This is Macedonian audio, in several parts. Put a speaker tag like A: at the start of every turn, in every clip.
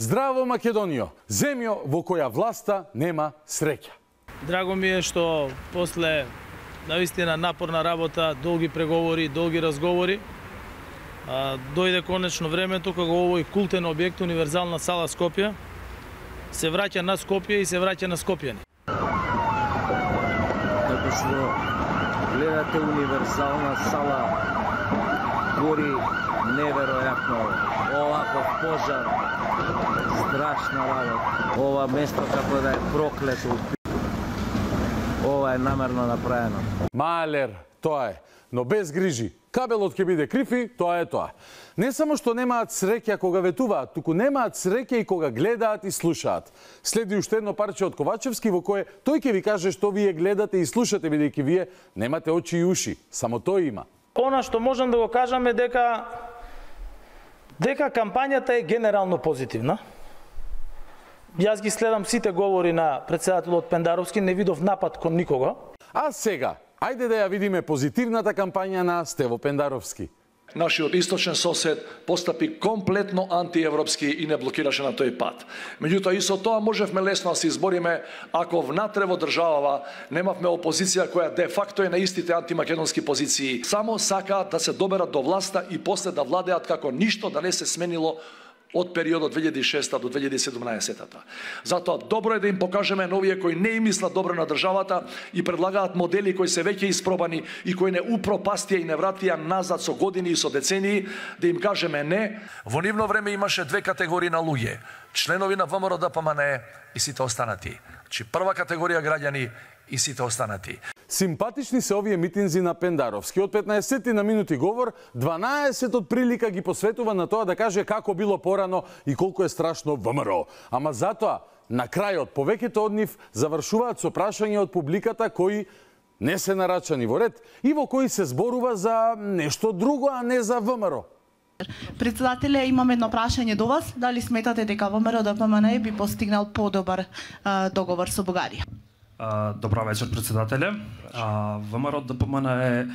A: Здраво Македонијо, земјо во која власта нема среќа.
B: Драго ми е што после наистина напорна работа, долги преговори, долги разговори, дојде конечно времето кога овој култен објект, универзална сала Скопје, се враќа на Скопје и се враќа на скопјани.
C: Како што гледате, универзална сала гори неверојатно, оваков пожар, страшна работа. Ова место како да е проклето. Ова е намерно направено.
A: Малер, тоа е, но без грижи. Кабелот ќе биде крив и тоа е тоа. Не само што немаат среќа кога ветуваат, туку немаат среќа и кога гледаат и слушаат. Следи уште едно парче од Ковачевски во кое тој ќе ви каже што вие гледате и слушате, бидејќи вие немате очи и уши. Само тој има.
B: Она што можам да го кажам е дека кампањата е генерално позитивна. Јас ги следам сите говори на председателот Пендаровски, не видов напад кон никого.
A: А сега, ајде да ја видиме позитивната кампања на Стево Пендаровски.
D: Нашиот источен сосед постапи комплетно антиевропски и не блокираше на тој пат. Меѓутоа и со тоа можевме лесно да се избориме ако внатре во државава немавме опозиција која де факто е на истите антимакедонски позиции. Само сакаат да се доберат до власта и после да владеат како ништо да не се сменило од периодот 2006 до 2017. Затоа добро е да им покажеме на овие кои не им мислат добро на државата и предлагаат модели кои се веќе испробани и кои не упропастија и не вратија назад со години и со децении, да им кажеме не. Во нивно време имаше две категории на луѓе: членови на ВМРО ДПМНЕ и сите останати. Значи прва категорија граѓани и сите останати.
A: Симпатични се овие митинзи на Пендаровски. Од 15 на минути говор, 12 од прилика ги посветува на тоа да каже како било порано и колку е страшно ВМРО. Ама затоа, на крајот, повеќето од нив завршуваат со прашања од публиката кои не се нарачани во ред и во кои се зборува за нешто друго, а не за ВМРО.
E: Председателе, имам едно прашање до вас. Дали сметате дека ВМРО ДПМНЕ би постигнал подобар договор со Бугарија?
F: Добра вечер, председателе. ВМРО ДПМНЕ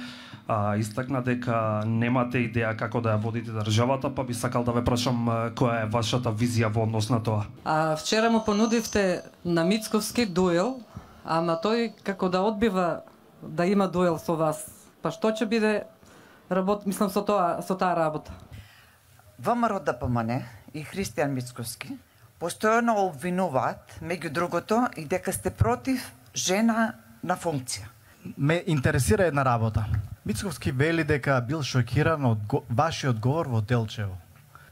F: истакна дека немате идеја како да ја водите државата, па би сакал да ве прашам која е вашата визија во однос на тоа.
G: Вчера му понудивте на Мицковски дуел, ама тој како да одбива да има дуел со вас. Па што ќе биде мислам со таа работа?
H: ВМРО ДПМНЕ и Христијан Мицковски постојано обвинуваат, меѓу другото, и дека сте против жена на функција.
I: Ме интересира една работа. Мицковски вели дека бил шокиран од вашиот говор во Делчево.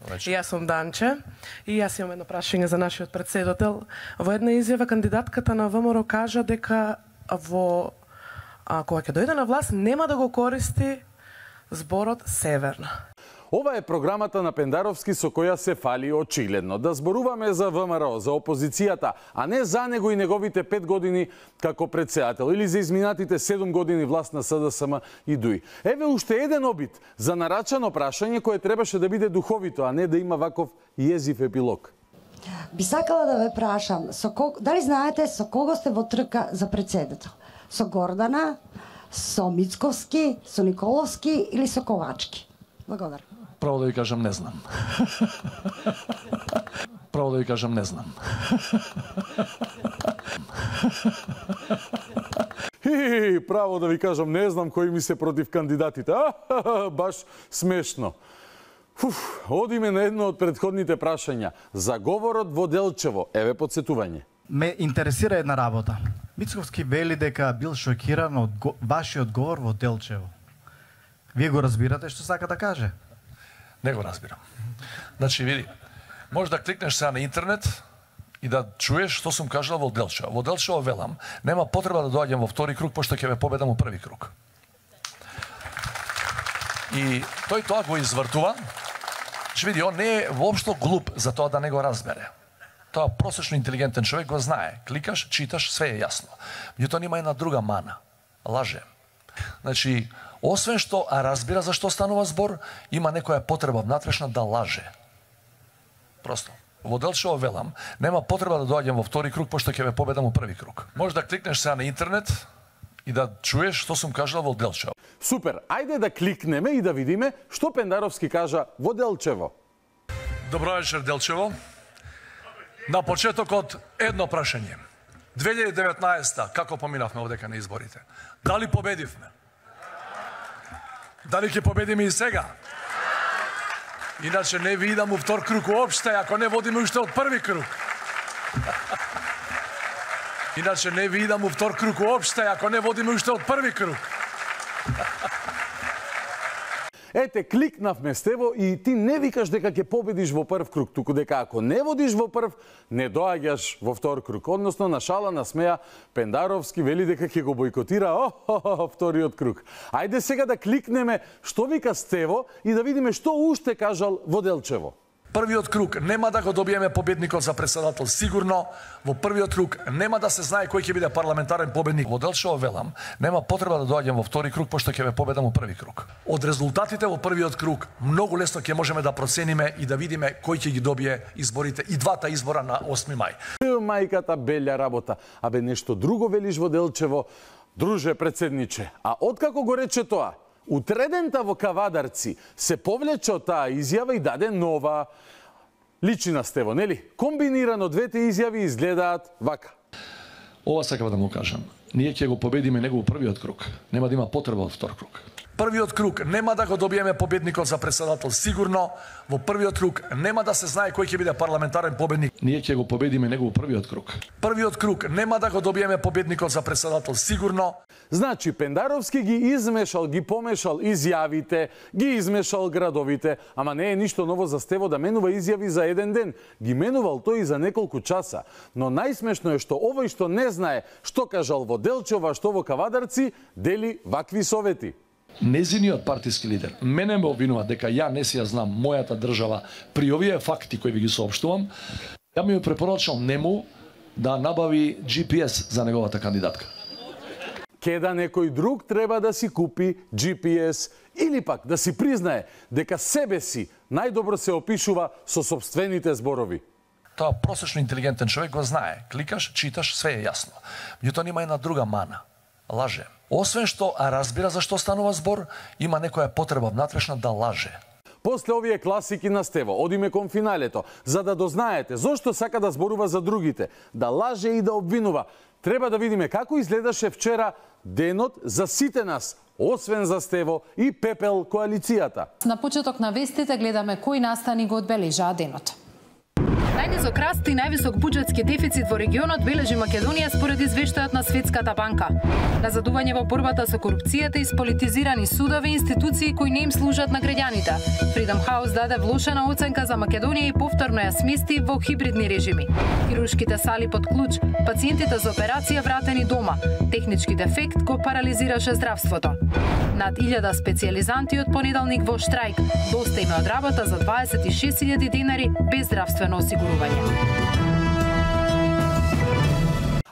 J: Јас сум Данче и јас имам едно прашање за нашиот претседател. Во една изјава кандидатката на ВМРО кажа дека кога ќе дојде на власт нема да го користи зборот северна.
A: Ова е програмата на Пендаровски со која се фали очигледно. Да зборуваме за ВМРО, за опозицијата, а не за него и неговите 5 години како председател или за изминатите 7 години власт на СДСМ и ДУИ. Еве уште еден обид за нарачано прашање кое требаше да биде духовито, а не да има ваков језив епилог.
K: Би сакала да ве прашам, дали знаете со кого сте во трка за председател? Со Гордана, со Мицковски, со Николовски или со Ковачки? Благодарам.
D: Право да ви кажам, не знам. Право да ви кажам, не знам.
A: Право да ви кажам, не знам кои ми се против кандидатите. Баш смешно. Одиме на едно од предходните прашања. За говорот во Делчево. Еве подсетување.
I: Ме интересира една работа. Мицковски вели дека бил шокиран од вашиот говор во Делчево. Вие го разбирате што сака да каже?
D: Не го разбирам. Значи, види, може да кликнеш сега на интернет и да чуеш што сум кажал во Делчево. Во Делчево велам, нема потреба да доаѓам во втори круг, пошто ќе ме победам во први круг. И тој тоа го извртува. Види, он не е воопшто глуп за тоа да не го разбере. Тоа просечно интелигентен човек го знае. Кликаш, читаш, све е јасно. Меѓутоа има една друга мана. Лаже. Значи, освен што разбира за што станува збор, има некоја потреба внатрешна да лаже. Просто. Во Делчево велам, нема потреба да доаѓам во втори круг, пошто ќе ве победам во први круг. Може да кликнеш сега на интернет и да чуеш што сум кажал во Делчево.
A: Супер, ајде да кликнеме и да видиме што Пендаровски кажа во Делчево.
D: Добро вечер, Делчево. На почетокот едно прашање. 2019-та, како поминавме овдека на изборите? Дали победивме? Дали ќе победиме и сега? Иначе не ви идам у втор круг уопште, ако не водиме уште од први круг. Иначе не ви идам у втор круг уопште, ако не водиме уште од први круг.
A: Ете, кликнавме с тево и ти не викаш дека ќе победиш во прв круг, туку дека ако не водиш во прв, не доаѓаш во втор круг. Односно, на шала, на смеја, Пендаровски вели дека ќе го бојкотира вториот круг. Ајде сега да кликнеме што вика Стево и да видиме што уште кажал во Делчево.
D: Првиот круг нема да го добиеме победникот за председател сигурно. Во првиот круг нема да се знае кој ќе биде парламентарен победник. Во Делчево велам, нема потреба да доаѓам во втори круг, пошто ќе ве победам во први круг. Од резултатите во првиот круг многу лесно ќе можеме да процениме и да видиме кој ќе ги добие изборите и двата избора на 8 мај.
A: Мајката белја работа. Абе нешто друго велиш во Делчево, друже председниче. А откако го рече тоа, утредента во Кавадарци се повлече од таа изјава и даде нова. Личи на Стево, нели? Комбинирано двете изјави изгледаат вака.
D: Ова сакам да му кажам. Ние ќе го победиме него во првиот круг. Нема да има потреба од втор круг. Првиот круг нема да го добиеме победникот за председател сигурно. Во првиот круг нема да се знае кој ќе биде парламентарен победник. Ние ќе го победиме него во првиот круг. Првиот круг нема да го добиеме победникот за председател сигурно.
A: Значи, Пендаровски ги измешал, ги помешал изјавите, ги измешал градовите, ама не е ништо ново за Стево да менува изјави за еден ден. Ги менувал тој и за неколку часа. Но најсмешно е што овој што не знае што кажал во Делчево, а што во Кавадарци, дели вакви совети.
D: Незиниот партиски лидер мене ме обвинува дека ја не си ја знам мојата држава при овие факти кои ви ги соопштувам. Ја ми препорачал нему да набави GPS за неговата кандидатка.
A: Кеда некој друг треба да си купи GPS или пак да си признае дека себе си најдобро се опишува со сопствените зборови.
D: Тоа просечно интелигентен човек го знае. Кликаш, читаш, све е јасно. Меѓутоа има една друга мана. Лаже. Освен што разбира за што станува збор, има некоја потреба внатрешна да лаже.
A: После овие класики на Стево, одиме кон финалето, за да дознаете зошто сака да зборува за другите, да лаже и да обвинува. Треба да видиме како изгледаше вчера денот за сите нас, освен за Стево и Пепел коалицијата.
L: На почеток на вестите гледаме кои настани го одбележаа денот.
M: Најнизок раст и највисок буџетски дефицит во регионот бележи Македонија според извештајот на Светската банка. Назадување во борбата со корупцијата и сполитизирани судови и институции кои не им служат на граѓаните. Freedom House даде влошена оценка за Македонија и повторно ја смести во хибридни режими. Хируршките сали под клуч, пациентите за операција вратени дома. Технички дефект го парализираше здравството. Над 1000 специјализанти од понеделник во штрајк. Доста име од работа за 26.000 денари без здравствено осигурување.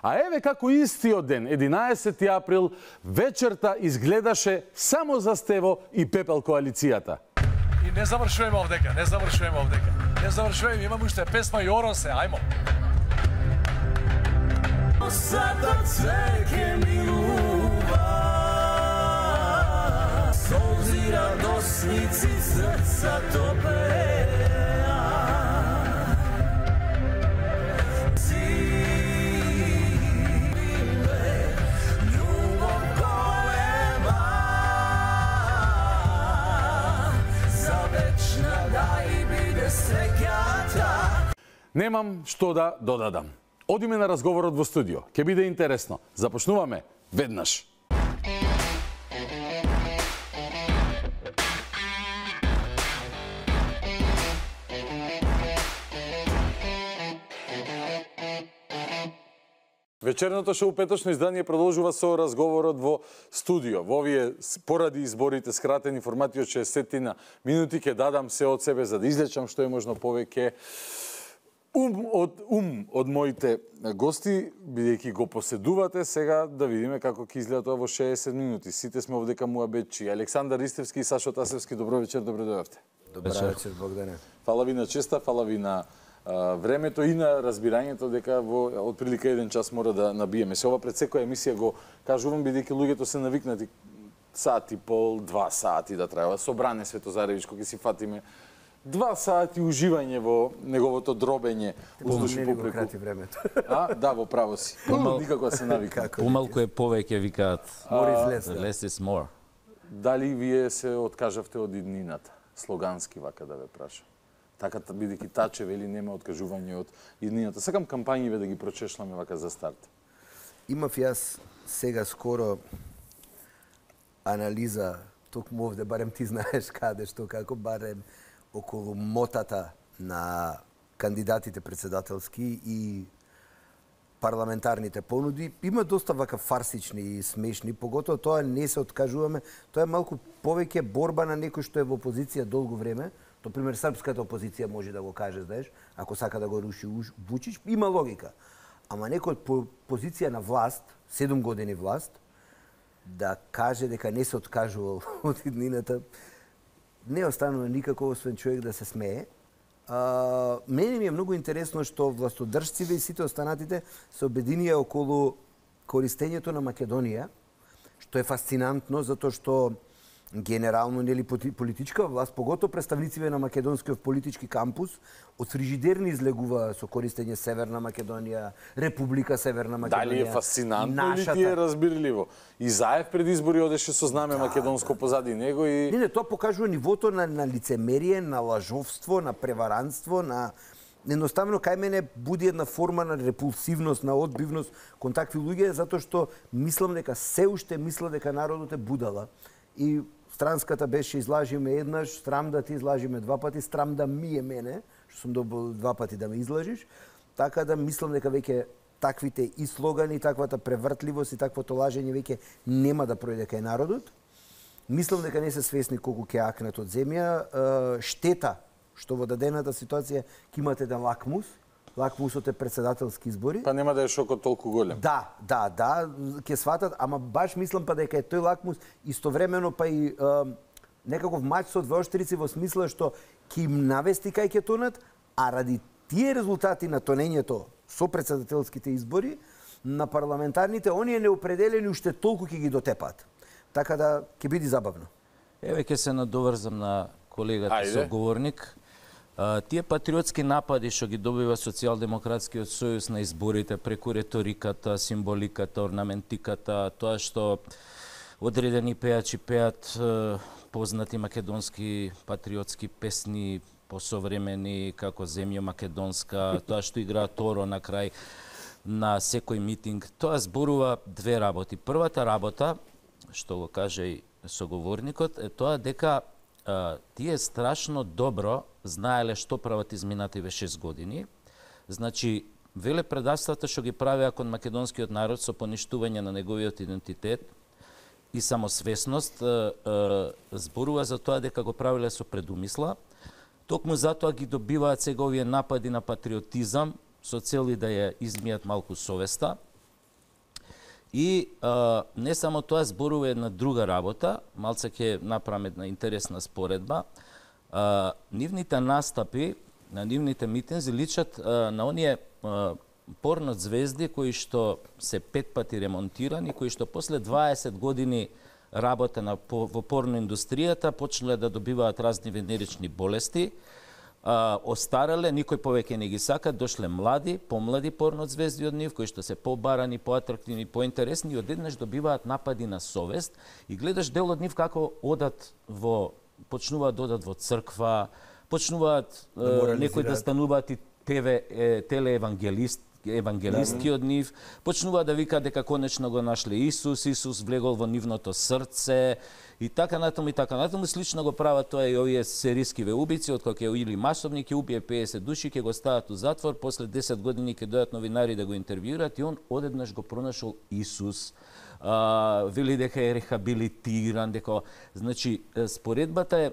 A: А еве како истиот ден, 11 април, вечерта изгледаше само за Стево и Пепел коалицијата.
D: И не завршуваме овдека, не завршуваме, имаме уште песма и Оросе, ајмо. Сада цвеќе милува, солзи радосници срца топеа.
A: Немам што да додадам. Одиме на разговорот во студио. Ќе биде интересно. Започнуваме веднаш. Вечерното шоу петочно издание продолжува со разговорот во студио. Во овие поради изборите скратени формати од 60 минути ќе дадам се од себе за да излечам што е можно повеќе од моите гости, бидејќи го поседувате сега, да видиме како ќе изгледа тоа во 60 минути. Сите сме овдека муабетчи. Александар Ристевски и Сашо Тасевски, добро вечер, добро дојавте.
N: Добро вечер, Богдане.
A: Фала ви на честа, фала ви на времето и на разбирањето дека во отприлика 1 час мора да набиеме. Се ова пред секоја емисија го кажувам, бидејќи луѓето се навикнати сат и пол, 2 сати да трајува. Со Бране Светозаревич, кога си фатиме 2 сати уживање во неговото дробење уздуши попреку.
N: Крати времето.
A: Да, во право си. Никако да се навика.
O: Помалку е повеќе, викаат.
N: More is less.
O: Less is more.
A: Дали вие се откажавте од иднината? Слогански вака да ве прашам. Така бидејќи Таче вели нема откажување од иднината. Сакам кампањиве да ги прочешламе вака за старт.
N: Имав јас сега скоро анализа, токму овде, барем ти знаеш каде што, како барем околу мотата на кандидатите председателски и парламентарните понуди. Има доста вака фарсични и смешни, поготово тоа не се откажуваме. Тоа е малку повеќе борба на некој што е во опозиција долго време. То пример српската опозиција може да го каже, знаеш, ако сака да го руши Вучич, има логика. Ама некој од позиција на власт, 7 години власт, да каже дека не се откажувал од иднината, не останува никако освен човек да се смее. Мене ми е многу интересно што властодржците и сите останатите се обединија околу користењето на Македонија, што е фасцинантно, затоа што генерално нели политичка власт, поготово представниците на македонскиот политички кампус, од фрижидерни излегува со користење Северна Македонија, Република Северна Македонија.
A: Дали е фасцинантно или ти е разбирливо? И Заев пред избори одеше со знаме македонско позади него и...
N: Не, тоа покажува нивото на лицемерие, на лажовство, на преваранство, на... Едноставно, кај мене буди една форма на репулсивност, на одбивност кон такви луѓе, затоа што мислам дека се уште мисла дека народот е будала. И странската беше излажиме еднаш, страм да ти излажиме 2 пати, страм да ми е мене, што сум добил 2 пати да ме излажиш. Така да мислам дека веќе таквите и слогани, таквата превртливост и таквото лажење веќе нема да пројде кај народот. Мислам дека не се свесни колку ќе акнат од земја. Штета што во дадената ситуација ќе имате еден лакмус. Лакмусот е председателски избори.
A: Па нема да е шокот толку голем.
N: Да, ќе сватат, ама баш мислам па дека е тој лакмус истовремено па и некаков мач со двеоштрици во смисла што ќе им навести кај ќе тонат, а ради тие резултати на тонењето со председателските избори на парламентарните, оние неопределени уште толку ќе ги дотепат. Така да ќе биде забавно.
O: Еве ќе се надоврзам на колегата соговорник. Тие патриотски напади што ги добива Социјалдемократскиот сојуз на изборите преку реториката, символиката, орнаментиката, тоа што одредени пејачи пеат познати македонски патриотски песни посовремени како Земја македонска, тоа што игра Торо на крај на секој митинг, тоа зборува две работи. Првата работа, што го каже и соговорникот, е тоа дека тие страшно добро знаеле што прават изминативе 6 години. Значи, веле предавствата што ги правеа кон македонскиот народ со поништување на неговиот идентитет и самосвесност, зборува за тоа дека го правиле со предумисла. Токму затоа ги добиваат сега овие напади на патриотизам со цели да ја измијат малку совеста. И не само тоа, зборува една друга работа, малце ќе направам една интересна споредба. Нивните настапи, на нивните митинзи личат на оние порно звезди кои што се 5 пати ремонтирани, кои што после 20 години работа во порно индустријата почнале да добиваат разни венерични болести, остареле, никој повеќе не ги сака, дошле млади, помлади порно звезди од нив, кои што се побарани, поатрактивни, поинтересни и одеднаш добиваат напади на совест и гледаш дел од нив како почнуваат да одат во црква, почнуваат некои да стануваат и телеевангелисти, евангелистки од нив, почнува да вика дека конечно го нашле Исус, Исус влегол во нивното срце и така натаму и така натаму. Слично го прават тоа и овие серискиве убици, откако ќе или масовник ќе убие 50 души, ќе го стават у затвор, после 10 години ќе дојдат новинари да го интервјуират и он одеднаш го пронашол Исус. Вели дека е рехабилитиран, дека значи споредбата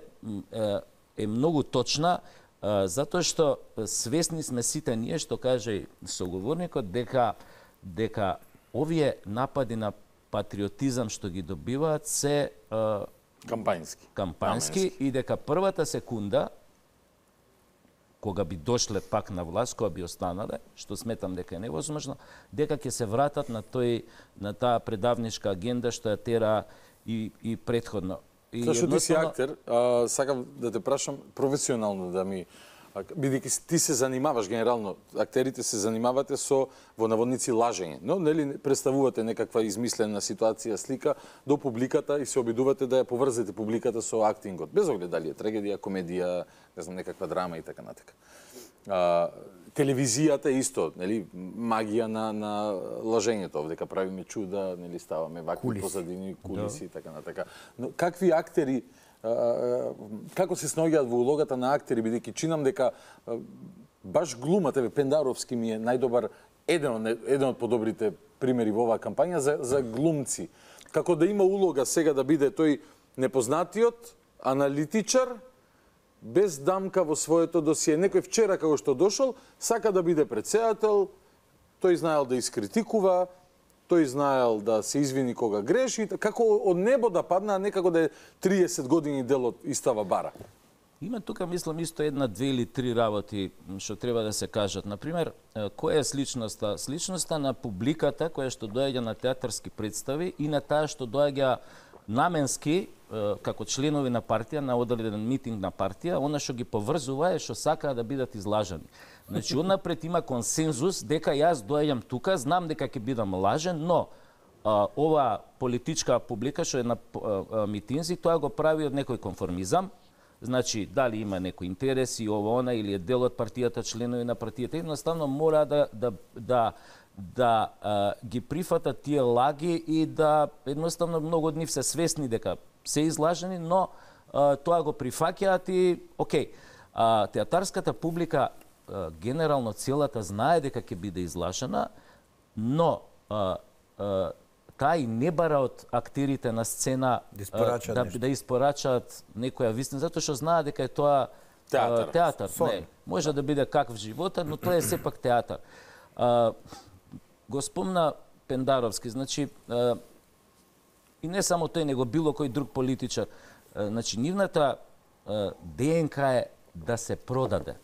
O: е многу точна, затоа што свесни сме сите ние, што каже соговорникот, дека овие напади на патриотизам што ги добиваат се кампањски и дека првата секунда кога би дошле пак на власт, кога би останале, што сметам дека е невозможно, дека ќе се вратат на таа предавнишка агенда што ја тера и претходно.
A: Зашто ти си актер, сакам да те прашам професионално да ми, бидејќи ти се занимаваш генерално, актерите се занимавате со во наводници лажење, но нели представувате некаква измислена ситуација, слика до публиката и се обидувате да ја поврзете публиката со актингот, без оглед дали е трагедија, комедија, не знам, некаква драма и така натака. Телевизијата исто, нели, магија на лажењето, овдека правиме чуда, нели, ставаме вакви позадини, кулиси и така натака. Но какви актери, како се снаоѓаат во улогата на актери, бидејќи чинам дека баш глумата, Пендаровски ми е најдобар, еден од подобрите примери во оваа кампања за глумци. Како да има улога сега да биде тој непознатиот аналитичар, без дамка во своето досие. Некој вчера како што дошол, сака да биде претседател, тој знаел да искритикува, тој знаел да се извини кога греши, како од небо да падна, а некако да е 30 години дел од истава бара.
O: Има тука, мислам, исто една, две или три работи што треба да се кажат. Например, која е сличноста? Сличноста на публиката која што доаѓа на театарски представи и на таа што доаѓа наменски како членови на партија на одреден митинг на партија, она што ги поврзува е што сакаат да бидат излажани. Значи, однапред има консензус дека јас доаѓам тука, знам дека ќе бидам лажен, но ова политичка публика што е на митинзи, тоа го прави од некој конформизам. Значи, дали има некои интереси, ова, она, или е дел од партијата, членови на партијата, едноставно мора да ги прифатат тие лаги и да едноставно многу од нив се свесни дека се излажени, но тоа го прифаќаат и окей. Театарската публика генерално целата знае дека ќе биде излажена, но таа и не бара од актерите на сцена да испорачаат некоја вистина, затоа што знаат дека е тоа театар. Не, може да биде каков живота, но тоа е сепак театар. Го спомна Пендаровски, значи, и не само тој, него било кој друг политичар. Значи, нивната ДНК е да се продаде.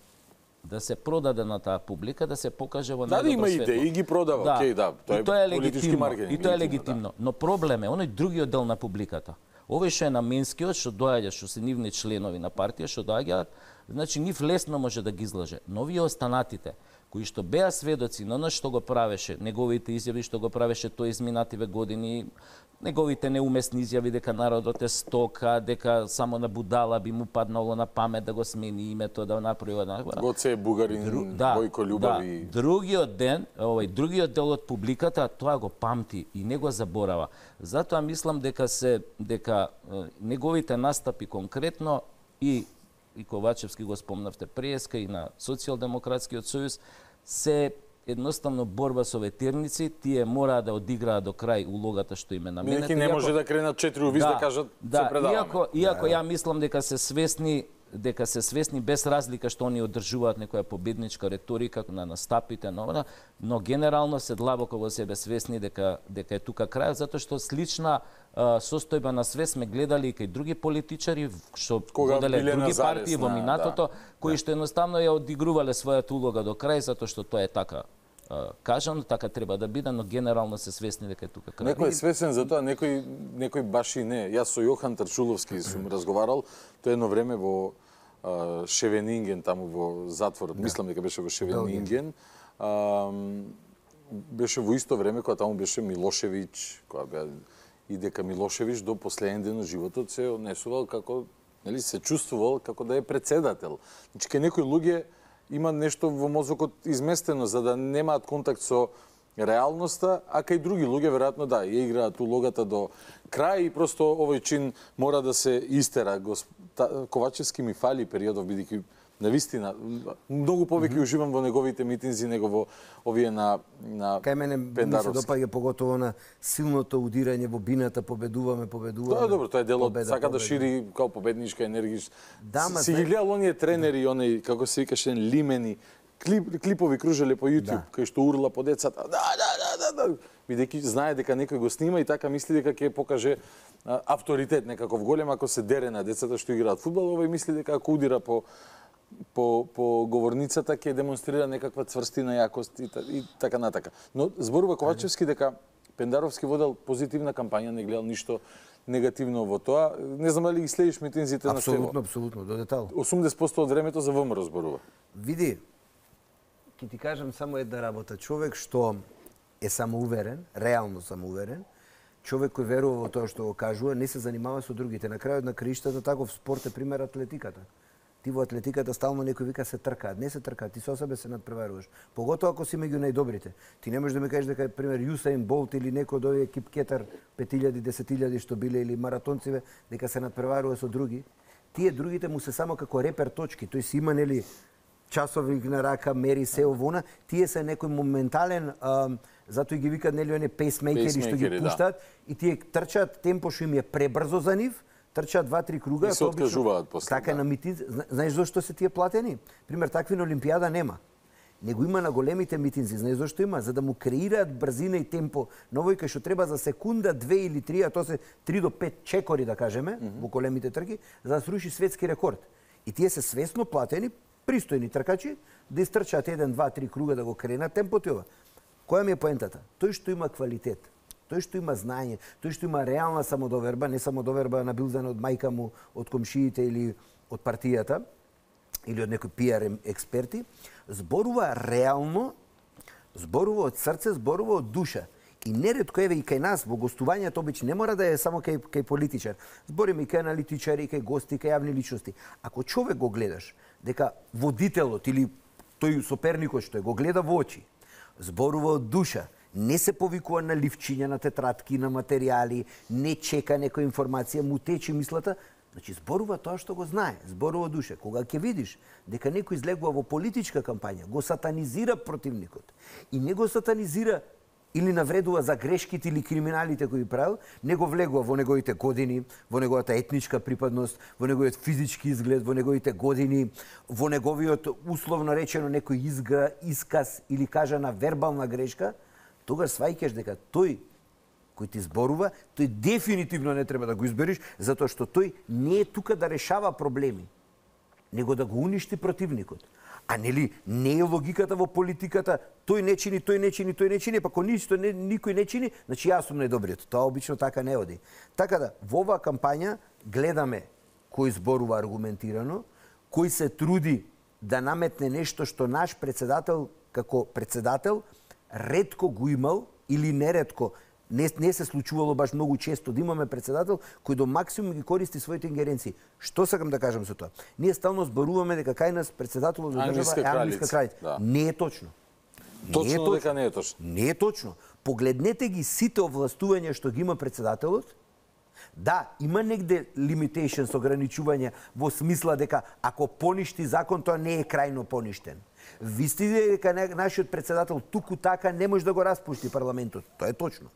O: Да се продаде на таа публика, да се покаже во најдобро
A: има
O: светло.
A: идеи и ги продава, окей, да.
O: Тоа е
A: политички маркетинг.
O: И тоа е легитимно. Но проблем е оној другиот дел на публиката. Овој што е наменскиот, што доаѓа, што се нивни членови на партија, што доаѓаат, значи нив лесно може да ги излаже. Но овие останатите, кои што беа сведоци на она што го правеше, неговите изјави што го правеше тој изминативе години, неговите неуместни изјави дека народот е стока, дека само на будала би му паднало на памет да го смени името, да направи една.
A: Гоце Бугарин, Бојко Љубави.
O: Другиот дел од публиката тоа го памти и не го заборава. Затоа мислам дека неговите настапи конкретно и Ковачевски го спомнавте преска и на Социјалдемократскиот сојуз се едноставно борба со ветерници, тие мора да одиграат до крај улогата што им е наменета.
A: Неки не може да кренат 4 увиз да кажат се предаваме.
O: Иако ја мислам дека се свесни без разлика што они одржуваат некоја победничка реторика на настапите, но генерално се длабоко во себе свесни дека е тука крајот, затоа што слична состојба на свест сме гледали и кај други политичари што воделе други партии во минатото, кои што едноставно ја одигрувале својата улога до крај, затоа што тоа е така кажано, така треба да биде, но генерално се свесни дека е тука крај.
A: Некој е свесен за тоа, некој баш и не. Јас со Јохан Тарчуловски сум разговарал, тоа едно време во Шевенинген, таму во затворот, мислам дека беше во Шевенинген, беше во исто време кога таму беше Милошевиќ, кога беа и дека Милошевиќ до последен ден од животот се однесувал како, нели, се чувствувал како да е претседател. Значи, кај некои луѓе има нешто во мозокот изместено за да немаат контакт со реалноста, а кај други луѓе веројатно да, ја играат улогата до крај и просто овој чин мора да се истера. Ковачевски ми фали периодов, бидејќи навистина многу повеќе уживам во неговите митинзи него во овие на
N: Кај мене ми се допаѓа поготово на силното удирање во бината, победуваме.
A: Да, добро, тоа е дел од сака да шири као победничка енергија. Си ги гледал оние тренери, оние како се викаше Лимени, клипови кружеле по YouTube, кај што урла по децата. Да. Бидејќи знае дека некој го снима и така мисли дека ќе покаже авторитет некаков голем ако се дере на децата што играат фудбал, овој мисли дека ако удира по говорницата ќе демонстрира некаква цврстина, јакост и така натака. Но зборува Ковачевски дека Пендаровски водел позитивна кампања, не гледал ништо негативно во тоа. Не знам дали ги следиш митинзите на Стево.
N: Апсолутно, до детал.
A: 80% од времето за ВМРО зборува.
N: Види, ќе ти кажам само една работа. Човек што е самоуверен, реално самоуверен, човек кој верува во тоа што го кажува, не се занимава со другите. На крајот на краиштата таков спорт е пример атлетиката. Ти во атлетиката стално некој вика се тркаат, не се тркаат, ти со себе се надпреваруваш. Поготоа ако си меѓу најдобрите. Ти не можеш да ми кажеш дека пример Юсаин Болт или некој од овие кипкетар 5000, 10.000 што биле или маратонциве дека се надпреварува со други. Тие другите му се само како репер точки. Тој си има нели часовник на рака, мери се овона, тие се некој моментален затоа и ги викаат нели оние пейсмейкери што ги пуштаат и тие трчаат темпо што им е пребрзо за нив. Трчаат 2-3 круга,
A: и се откажуваат после.
N: Така на митинзи, знаеш зошто се тие платени? Пример, такви на Олимпијада нема. Него има на големите митинзи, знаеш зошто има? За да му креираат брзина и темпо. Новој кај што треба за секунда, 2 или 3, а тоа се 3 до 5 чекори да кажеме, во големите трки, за да сруши светски рекорд. И тие се свесно платени, пристојни тркачи, да истрчаат 1, 2, 3 круга да го кренат темпото и ова. Која ми е поентата? Тој што има квалитет. Тој што има знаење, тој што има реална самодоверба, не самодоверба набилдана од мајка му, од комшиите или од партијата, или од некои пиар експерти, зборува реално, зборува од срце, зборува од душа. И неретко еве и кај нас во гостувањето обично не мора да е само кај политичар. Збориме и кај аналитичари, кај гости, кај јавни личности. Ако човек го гледаш дека водителот или тој соперникот што го гледа во очи, зборува од душа, не се повикува на ливчиња, на тетрадки, на материјали, не чека некоја информација, му тече мислата, значи зборува тоа што го знае, зборува душа. Кога ќе видиш дека некој излегува во политичка кампања, го сатанизира противникот и не го сатанизира или навредува за грешките или криминалите кои правил, не го влегува во неговите години, во неговата етничка припадност, во неговиот физички изглед, во неговите години, во неговиот условно речено некој исказ или кажана вербална грешка, тогаш сваќаш дека тој кој ти зборува, тој дефинитивно не треба да го избериш, затоа што тој не е тука да решава проблеми, него да го уништи противникот. А нели не е логиката во политиката, тој не чини, тој не чини, тој не чини, па ако никој не чини, значи јас сум најдобриот. Тоа обично така не оди. Така да, во оваа кампања гледаме кој зборува аргументирано, кој се труди да наметне нешто што наш председател, како председател, ретко го имал или неретко, не се случувало баш многу често да имаме председател кој до максимум ги користи своите ингеренции. Што сакам да кажам со тоа? Ние стално зборуваме дека кај нас председателот на држава е англиска кралица. Да. Не е точно.
A: Точно дека не е точно.
N: Не е точно. Погледнете ги сите овластувања што ги има председателот. Да, има негде limitations, ограничувања во смисла дека ако поништи закон, тоа не е крајно поништен. Вистите дека нашиот председател туку така не може да го распушти парламентот. Тоа е точно.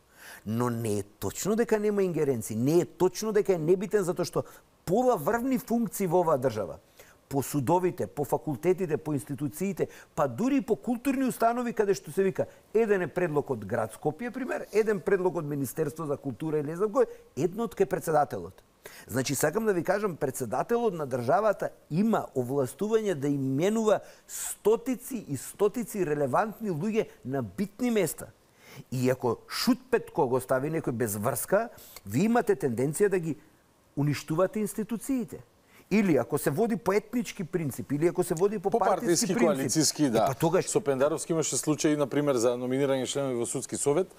N: Но не е точно дека нема ингеренции, не е точно дека е небитен затоа што пола врвни функции во оваа држава, по судовите, по факултетите, по институциите, па дури и по културни установи каде што се вика еден е предлог од град Скопје, пример, еден предлог од Министерство за култура или не знам кој, едно од ке председателот. Значи, сакам да ви кажам, председателот на државата има овластување да именува стотици и стотици релевантни луѓе на битни места. И ако шутпетко го стави некој без врска, ви имате тенденција да ги уништувате институциите. Или ако се води по етнички принцип, или ако се води по партиски принцип.
A: Коалициски, да.
N: Тогаш...
A: Со Пендаровски имаше случаи, например, за номинирање членови во судски совет.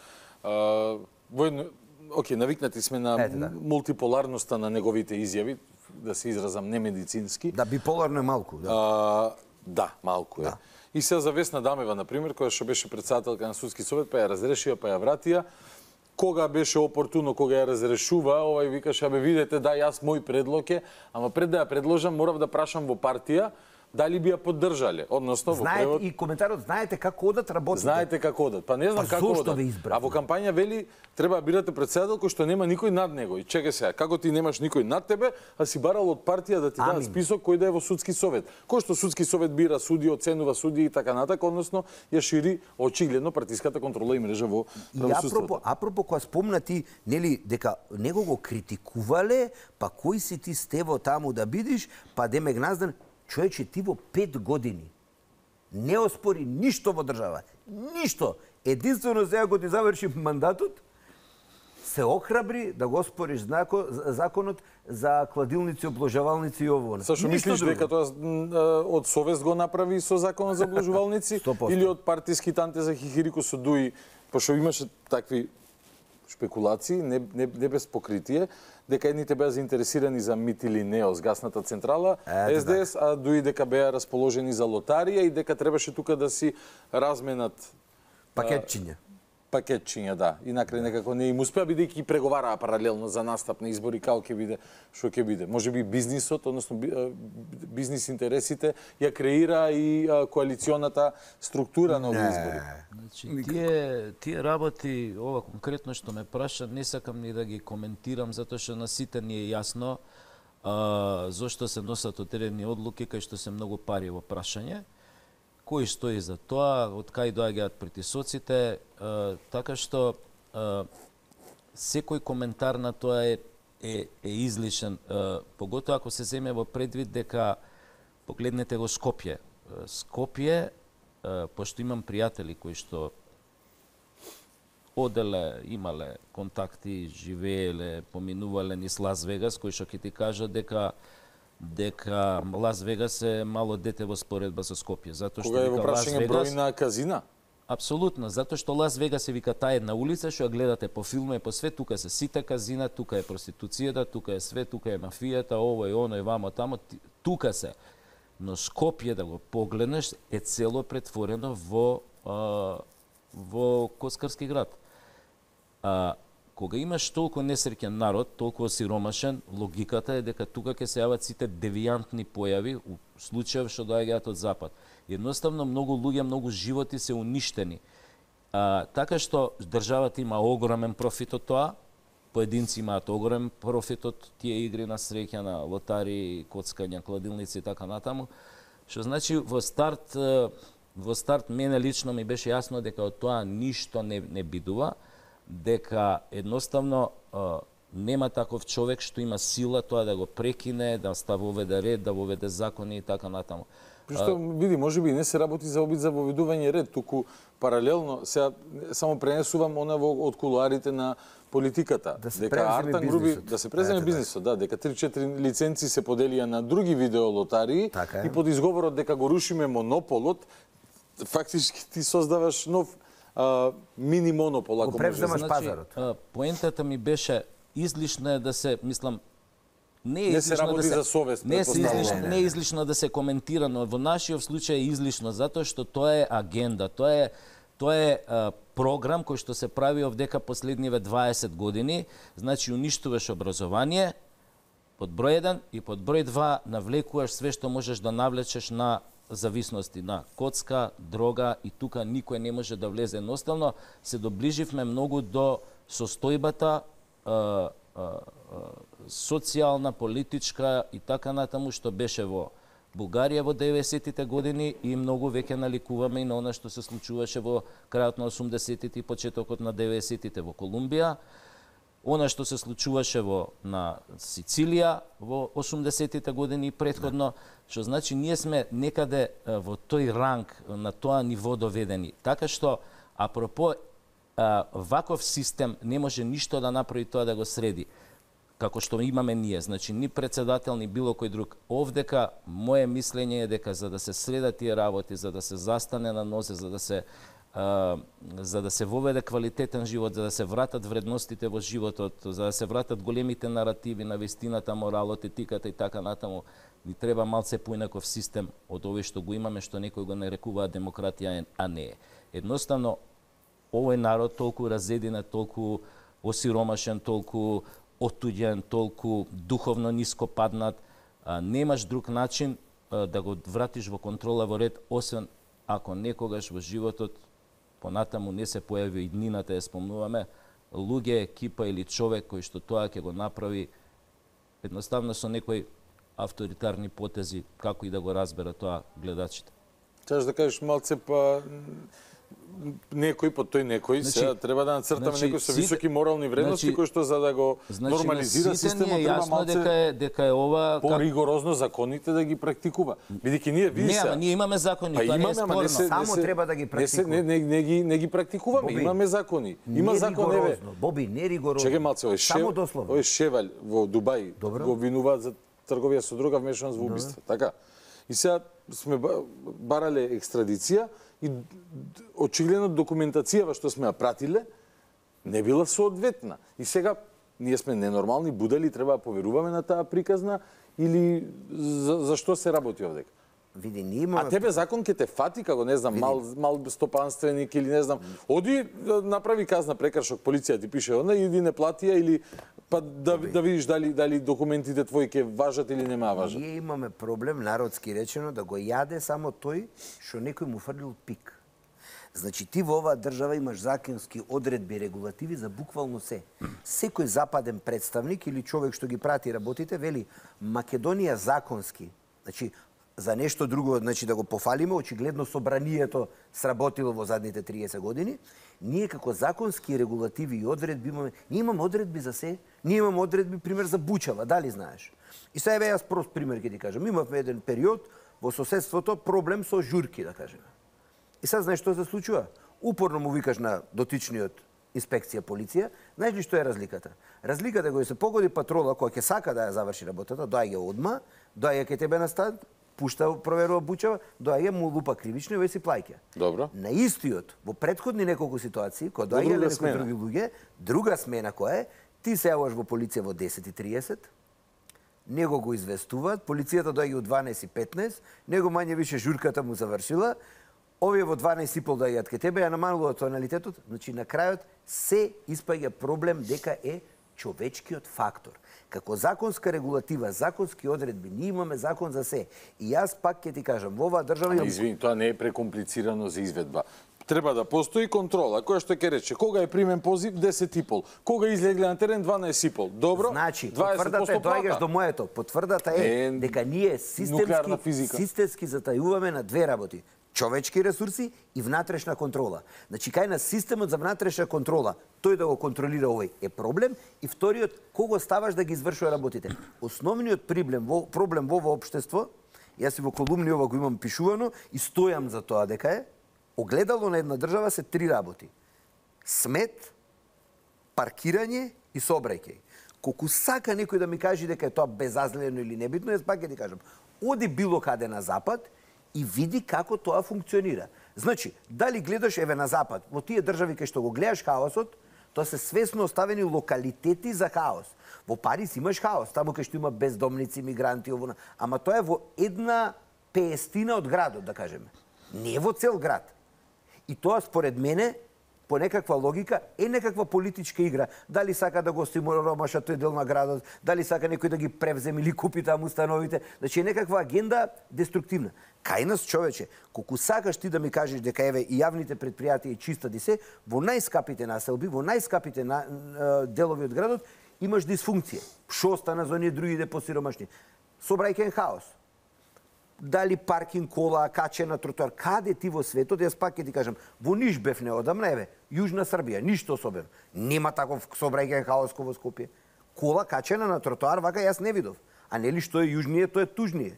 A: Навикнати сме на мултиполарноста на неговите изјави, да се изразам немедицински.
N: Да, биполарно е малку. Да.
A: Да, малку е. И сега за Весна Дамева, например, која што беше председателка на Судски совет, па ја разрешија, па ја вратија. Кога беше опортуно, кога ја разрешува, викаше, абе видете, да, јас мој предлог е, ама пред да ја предложам, морав да прашам во партија, дали би ја поддржале, односно во превод...
N: И коментарот, знаете како одат работите.
A: Знаете како одат. Па не знам како одат. А во кампања вели треба да бирате председател кој што нема никој над него. И чекај сега, како ти немаш никој над тебе, а си барал од партија да ти дадат список кој да е во судски совет. Кој што судски совет бира суди, оценува суди и така натака, односно ја шири очигледно партиската контрола и мрежа во правосудството.
N: Апропо кога спомна ти, нели, дека него го критикувале, па кој си ти Стево таму да бидиш, па Деме Гназдан, човече, ти во 5 години не оспори ништо во држава. Ништо. Единствено сега го ти заврши мандатот, се охрабри да го оспориш законот за кладилници, обложавалници и ово.
A: Сашо, мислиш дека тоа од совест го направи со законот за обложувалници или од партиски танте за хихирико со дуи, пошто имаше такви шпекулации, не без покритие, дека едните беа заинтересирани за МИТ или НЕОС, гасната централа, СДС, а дуи дека беа расположени за лотарија и дека требаше тука да си разменат пакетчиња, да. И накрај некако не им успеа, бидејќи преговараа паралелно за настап на избори, како ќе биде, што ќе биде. Може би бизнисот, односно бизнис интересите, ја креира и коалиционата структура на овие избори.
O: Значи, тие работи, ова конкретно што ме праша, не сакам ни да ги коментирам, затоа што на сите ни е јасно зошто се носат одредени одлуки, кај што се многу пари во прашање. Кој стои за тоа, од кај доаѓаат притисоците, така што секој коментар на тоа е излишен, поготоа ако се земе во предвид дека погледнете го Скопје. Скопје, пошто имам пријатели кои што оделе, имале контакти, живееле, поминувале низ Лас Вегас, кои што ќе ти кажат дека Лас Вегас е мало дете во споредба со Скопје, затоа што
A: кога е во прашање број на казина?
O: Апсолутно, затоа што Лас Вегас е вика таа една улица што ја гледате по филма и по све, тука се сите казина, тука е проституцијата, тука е све, тука е мафијата, ово и оно и вамо тамо, тука се. Но Скопје да го погледнеш е цело претворено во коцкарски град. Кога имаш толку несреќен народ, толку осиромашен, логиката е дека тука ќе се јават сите девијантни појави, у случаи што доаѓаат од запад. Едноставно, многу луѓе, многу животи се уништени. Така што државата има огромен профит од тоа, поединци имаат огромен профит од тие игри на среќа, на лотари, коцкања, кладилници и така натаму. Што значи, во старт мене лично ми беше јасно дека од тоа ништо не бидува, дека едноставно нема таков човек што има сила тоа да го прекине, да воведе ред, да воведе закони и така натаму.
A: Што види, можеби не се работи за обид за воведување ред, туку паралелно, сега само пренесувам она од кулуарите на политиката, дека Артан Груби да се преземе бизнисот, да, дека 3-4 лиценци се поделија на други видеолотарии и под изговорот дека го рушиме монополот, фактички ти создаваш нов мини монопол, ако
N: превземаш пазарот.
O: Поентата ми беше излишно е да се, мислам,
A: не се работи за совест.
O: Не е излишно да се коментира, но во нашиот случај е излишно затоа што тоа е агенда, тоа е програм кој што се прави овдека последниве 20 години, значи уништуваш образование под број 1 и под број 2 навлекуваш све што можеш да навлечеш на зависности, на коцка, дрога и тука никој не може да влезе. Едноставно се доближивме многу до состојбата социјална, политичка и така натаму што беше во Бугарија во 90-тите години и многу веќе наликуваме и на она што се случуваше во крајот на 80-тите и почетокот на 90-тите во Колумбија, она што се случуваше на Сицилија во 80-тите години и претходно, што значи ние сме некаде во тој ранг, на тоа ниво доведени. Така што, апропо, ваков систем не може ништо да направи тоа да го среди, како што имаме ние, значи ни председател, ни било кој друг. Овдека, моje мислење е дека за да се средат тие работи, за да се застане на нозе, за да се воведе квалитетен живот, за да се вратат вредностите во животот, за да се вратат големите наративи на вистината, моралот, етиката и така натаму, Ни треба малце поинаков систем од овој што го имаме, што некој го нарекува демократија, а не е. Едноставно, овој народ толку разединет, толку осиромашен, толку отуѓен, толку духовно ниско паднат, немаш друг начин да го вратиш во контрола, во ред, освен ако некогаш во животот понатаму не се појави и днината, ја спомнуваме, луѓе, екипа или човек кој што тоа ќе го направи едноставно со некои авторитарни потези, како и да го разбера тоа гледачите.
A: Чаш да кажеш малце па некој по тој некој, сега треба да нацртаме некој со високи морални вредности кој што за да го нормализира системот треба малце
O: дека е ова
A: поригорозно законите да ги практикува. Бидејќи
O: ние имаме закони, тоа не е спорно.
N: Само треба да ги практикуваме.
A: Не ги практикуваме, имаме закони. Има закон, еве.
N: Боби, не ригорозно.
A: Чекај малце, овој Шеваль во Дубај го обвинуваат за трговија со дрога, вмешаност во убиство, така? И сега сме барале екстрадиција и очигледно документацијава што сме ја пратиле не била соодветна. И сега ние сме ненормални, будали, треба да поверуваме на таа приказна или за што се работи овдека?
N: Види, ние имаме...
A: А тебе закон ќе те фати како, не знам, мал стопанственик или не знам, оди направи казна прекршок, полиција ти пише онда, иди не платија или па да видиш дали документите твои ќе важат или нема важат.
N: Ние имаме проблем, народски речено, да го јаде само тој што некој му фрлил пик. Значи ти во оваа држава имаш законски одредби, регулативи за буквално се. Секој западен представник или човек што ги прати работите вели Македонија законски. Значи за нешто друго, значи да го пофалиме, очигледно собранието сработило во задните 30 години. Ние како законски регулативи и одредби имаме, ние имаме одредби за се, ние имаме одредби пример за Бучава, дали знаеш? И сега јас прост пример ќе ти кажам. Имавме еден период во соседството проблем со журки, да кажеме. И сега знаеш што се случува? Упорно му викаш на дотичниот инспекција, полиција, знаеш ли што е разликата? Разликата е кога се погоди патрола која ќе сака да ја заврши работата, доаѓа одма, доаѓа кај тебе на стад, пушта, проверува Бучава, доаѓа му лупа кривично и веќе си плаќа.
A: Добро.
N: На истиот, во претходни неколку ситуации, кога доаѓале некои други луѓе, друга смена која е, ти се јаваш во полиција во 10:30, него го известуваат, полицијата доаѓа во 12:15, него мање више журката му завршила, овие во 12:30 доаѓаат кај тебе, ја намалуваат тоналитетот, значи на крајот се испаѓа проблем дека е човечкиот фактор. Како законска регулатива, законски одредби, ние имаме закон за се. И јас пак ќе ти кажам, во оваа држава...
A: Извини, тоа не е прекомплицирано за изведба. Треба да постои контрола, која што ќе рече, кога е примен позив 10:30, кога излегле на терен 12:30. Добро?
N: Значи, потврдата е, доаѓаш до моето, потврдата е дека ние системски затајуваме на две работи. Човечки ресурси и внатрешна контрола. Значи, кај на системот за внатрешна контрола, тој да го контролира овој е проблем, и вториот, кого ставаш да ги извршува работите. Основниот проблем во ова општество, јас и во колумни ова го имам пишувано и стојам за тоа дека е, огледало на една држава се три работи. Смет, паркирање и сообраќај. Колку сака некој да ми каже дека е тоа безазлено или небитно, јас пак ќе ти кажам, оди било каде на запад и види како тоа функционира. Значи, дали гледаш еве на запад, во тие држави кај што го гледаш хаосот, тоа се свесно оставени локалитети за хаос. Во Париз имаш хаос, таму кај што има бездомници, мигранти, овона, ама тоа е во една пеестина од градот, да кажеме. Не во цел град. И тоа според мене по некаква логика е некаква политичка игра. Дали сака да го стимулиша тој дел на градот, дали сака некој да ги превземе или купи таму установите, значи е некаква агенда деструктивна. Кај нас, човече, колку сакаш ти да ми кажеш дека еве и јавните предпријатија и чиста ди се, во најскапите населби, во најскапите делови од градот имаш дисфункција. Што остана за оние другите посиромашни? Собрајќен хаос. Дали паркинг кола, качена тротоар, каде ти во светот, јас пак ќе ти кажам, во Ниш бев неодамна, еве, Јужна Србија, ништо особено. Нема таков собрајќен хаос во Скопје. Кола качена на тротоар, вака јас не видов. А нели што е јужнije, тоа е тужнije.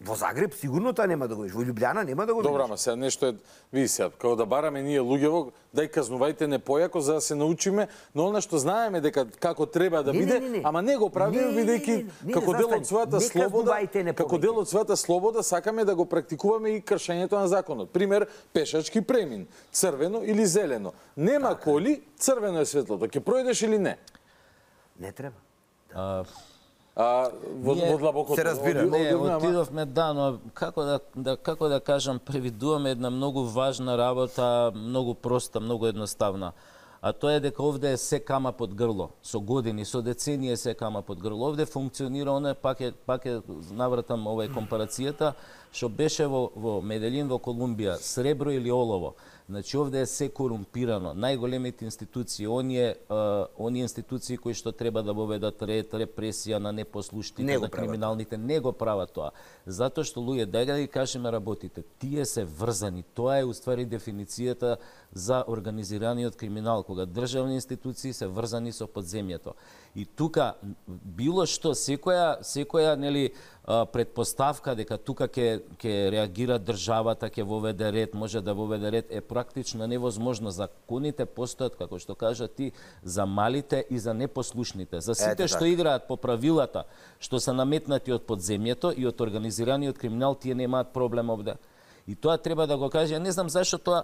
N: Во Загреб сигурно тоа нема да го видиш, во Љубљана нема да го видиш.
A: Добра, ама сега нешто е, види сега, како да бараме ние луѓево, дај казнувајте не појако за да се научиме, но она што знаеме дека како треба да биде, ама не го правиме бидејќи како дел од својата слобода, како дел од својата слобода сакаме да го практикуваме и кршењето на законот. Пример, пешачки премин, црвено или зелено. Нема коли, црвено е светлото. Ќе пројдеш или не?
N: Не треба.
A: во длабокото.
N: Се разбира.
O: Не, отидовме, да, но како да кажам, превидуваме една многу важна работа, многу проста, многу едноставна. А тоа е дека овде се кама под грло, со години, со деценија се кама под грло. Овде функционира оне, пак е навратам овај компарацијата, што беше во Меделин, во Колумбија, сребро или олово. Значи овде е се корумпирано. Најголемите институции, оние институции кои што треба да воведат ред, репресија на непослушните, на криминалните, не го прават тоа. Затоа што луѓе, дај да ги кажеме работите, тие се врзани. Тоа е уствари дефиницијата за организираниот криминал, кога државни институции се врзани со подземјето. И тука било што, секоја нели предпоставка дека тука ќе реагира државата, ќе воведе ред, може да воведе ред, е практично невозможно. Законите постојат, како што кажа ти, за малите и за непослушните. За сите што играат по правилата, што се наметнати од подземјето и од организираниот криминал, тие немаат проблем овде. И тоа треба да го каже. Не знам зашто тоа,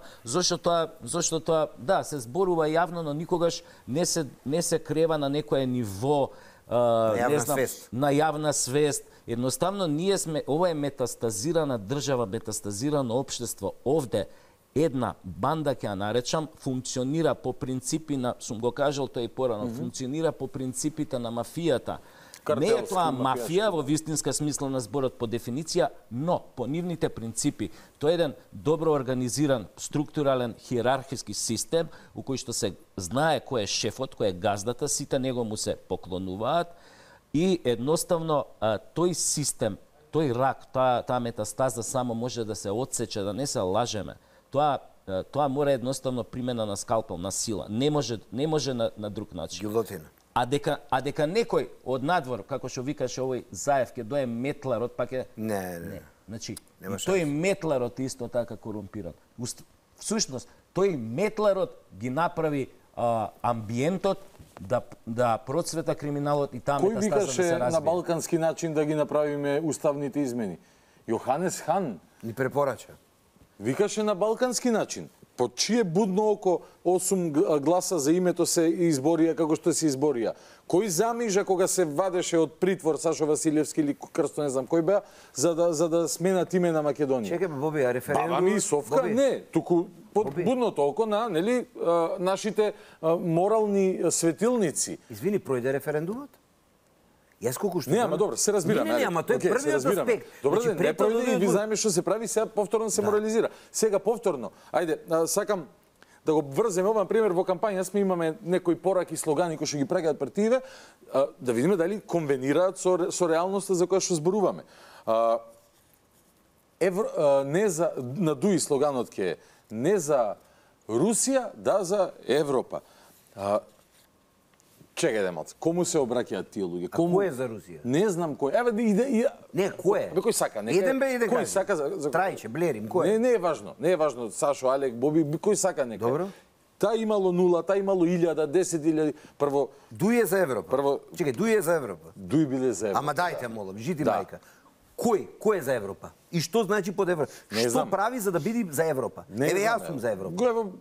O: да, се зборува јавно, но никогаш не се крева на некое ниво, на јавна свест. Едноставно, ние сме, ова е метастазирана држава, метастазирано општество. Овде една банда, ќе ја наречам, функционира по принципи на, сум го кажал тоа и порано, функционира по принципите на мафијата. Не е тоа мафија во вистинска смисла на зборот по дефиниција, но по нивните принципи. Тоа е еден добро организиран, структурален, хиерархиски систем у кој што се знае кој е шефот, кој е газдата, сите него му се поклонуваат и едноставно тој систем, тој рак, таа метастаза само може да се отсече, да не се лажеме. Тоа мора едноставно примена на скалпел, на сила. Не може на друг начин.
N: Гилотина.
O: А дека некој од надвор, како што викаше овој Заев, ќе дое метларот, пак е... Не. Значи, тој метларот исто така корумпиран. Всушност, тој метларот ги направи амбиентот да процвета криминалот и таа метастаза да се развие.
A: Кој викаше на балкански начин да ги направиме уставните измени? Јоханес Хан
N: ни препорача.
A: Викаше на балкански начин. По чие будно око 8 гласа за името се изборија како што се изборија? Кој замижа кога се вадеше од притвор Сашо Василевски или Крсто, не знам кој беа, за да сменат име на Македонија?
N: Чекај, Боби, а референдум...
A: Баба ми Совка? Боби. Не, туку под будното око на нашите морални светилници.
N: Извини, пројде референдумот? Јас колку што...
A: Не, ама добро, се разбираме.
N: Не, ама тоа е првиот аспект.
A: Добро, не пројде и ви знаеме што се прави, сега повторно се морализира. Сега повторно, ајде, сакам да го врземе ова, например, во кампања сме имаме некои пораки, слогани кои што ги праќаат партиите, да видиме дали конвенираат со реалноста за која што зборуваме. Не за на Дуи слоганот ќе е не за Русија, да за Европа. Чекај да малце, кому се обраќаат тие луѓе?
N: Кому е за Русија?
A: Не знам кој. Еве
N: Не, кој е?
A: Бе кој сака?
N: Еден бе иде
A: кој сака за
N: Трајче, Блерим, кој е?
A: Не е важно. Не е важно Сашо, Алек, Боби, кој сака нека.
N: Добро.
A: Та имало 0, та имало 1000, 10.000. Прво
N: Дуи е за Европа. Чекај, Дуи е за Европа.
A: Дуи биле за Европа.
N: Ама дајте молам, жити мајка. Кој е за Европа? И што значи под Европа? Што прави за да биде за Европа? Еве јас сум за Европа.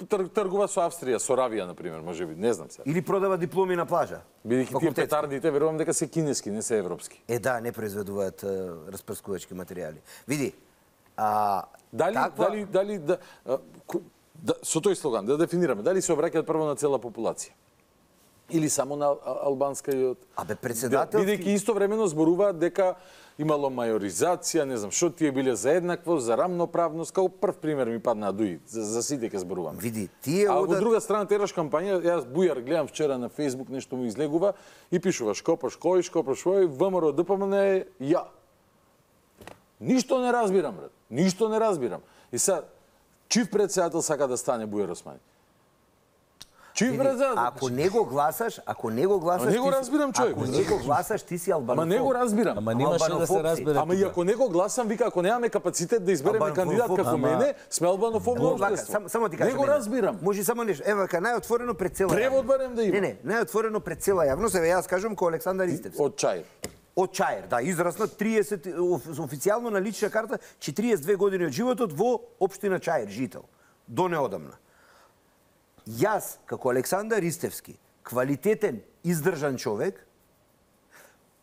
A: Тргува со Австрија, со Равија, например, можеби, не знам сега.
N: Или продава дипломи на плажа.
A: Бидејќи тие петардите, верувам дека се кинески, не се европски.
N: Да, не произведуваат распрскувачки материјали. Види,
A: дали со тој слоган да дефинираме, дали се обраќаат прво на цела популација? Или само на албанскиот?
N: Председателски...
A: Бидејќи истовремено зборуваат дека имало мајоризација, не знам што, тие биле за еднаквост, за рамноправност, како прв пример ми падна Дуи, за сите ќе зборуваме.
N: Види, тие
A: од друга страна тераш кампања, јас Бујар гледам вчера на Facebook, нешто му излегува и пишува шкопаш кој, ВМРО ДПМН е ја. Ништо не разбирам, брат. Ништо не разбирам. И сега, чив председател сака да стане Бујар Османи?
N: Ако не го гласаш,
A: не го разбирам, човек.
N: Ако не го гласаш, ти си албанофоб.
A: Ама не го разбирам.
O: Ама немаше да се разбере.
A: Ама и ако не го гласам, вика, ако немаме капацитет да избереме кандидат како мене, сме албанофобно општество.
N: Само ти кажам.
A: Не го разбирам.
N: Може само нешто. Ева, најотворено пред цела.
A: Превод барем да има.
N: Не, најотворено пред цела јавност, еве јас кажам ко Александар Истевски.
A: Од Чаир.
N: Од Чаир, да, израсна 30 официјално на лична карта 42 години од животот во општина Чаир, жител. До неодамна. Јас, како Александар Истевски, квалитетен, издржан човек,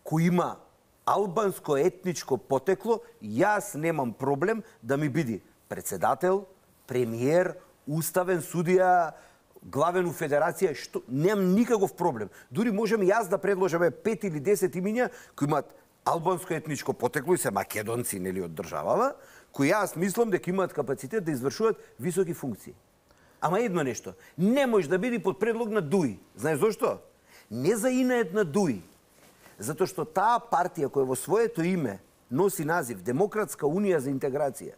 N: кој има албанско етничко потекло, јас немам проблем да ми биде председател, премиер, уставен судија, главен у федерација, што немам никаков проблем. Дури можем јас да предложиме 5 или 10 имиња кои имаат албанско етничко потекло и се македонци, нели, од државава, кои јас мислам дека имаат капацитет да извршуваат високи функции. Ама едно нешто, не може да биде под предлог на ДУИ. Знаеш зошто? Не за инает на ДУИ. Затоа што таа партија која во своето име носи назив Демократска унија за интеграција,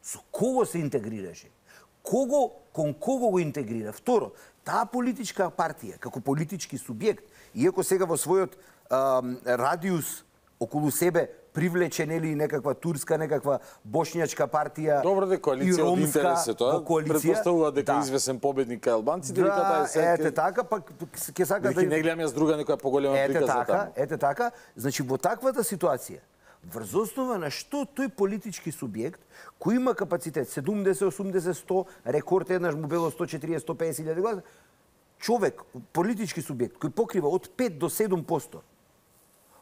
N: со кого се интегрираше? Кон кого го интегрира? Второ, таа политичка партија, како политички субјект, иако сега во својот радиус околу себе привлече, нели, некаква турска, некаква бошњачка партија.
A: Добро, дека коалиција од интерес е тоа. Претпоставува дека извесен победник е албанците, дека таа е сега.
N: Ете така, пак ќе сака да
A: не гледам јас друга некоја поголема приказна таму.
N: Ете така, значи во таквата ситуација, врз основа на што тој политички субјект кој има капацитет 70, 80, 100, рекорд еднаш му било 140, 150 илјади гласа, човек, политички субјект кој покрива од 5 до 7%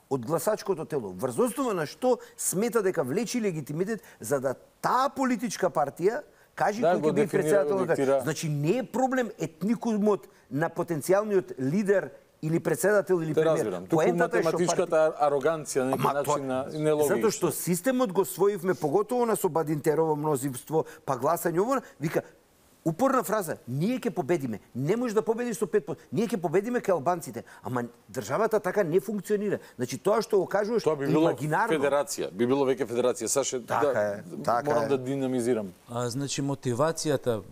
N: од гласачкото тело, врз основа на што смета дека влечи легитимитет за да таа политичка партија кажи кој ќе биде председател. Значи не е проблем етникумот на потенцијалниот лидер или председател или премиер.
A: Разбирам. Туку математичката ароганција на некој начин на нелогично.
N: Затоа што системот го своивме, поготово на Собадинтерово мнозинство, па гласање ово, вика упорна фраза, ние ќе победиме. Не може да победиш со 5%. Ние ќе победиме кај албанците. Ама државата така не функционира. Значи тоа што го кажуваш
A: тоа би било
N: имагинарно.
A: Федерација, би било веќе федерација. Саше морам да динамизирам.
O: Значи мотивацијата,